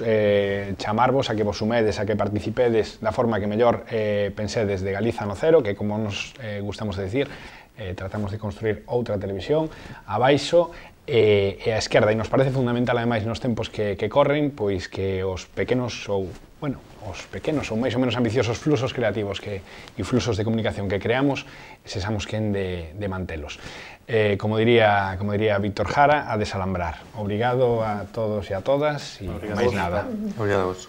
chamarvos a que vos sumedes, a que participedes da forma que mellor pensedes de Galiza no Cero, que como nos gustamos de decir, tratamos de construir outra televisión abaixo e a esquerda, e nos parece fundamental ademais nos tempos que corren, pois que os pequenos ou máis ou menos ambiciosos fluxos creativos e fluxos de comunicación que creamos, sexamos quen de mantelos. Como diría Víctor Jara, a desalambrar. Obrigado a todos e a todas, e máis nada. Obrigado a vos.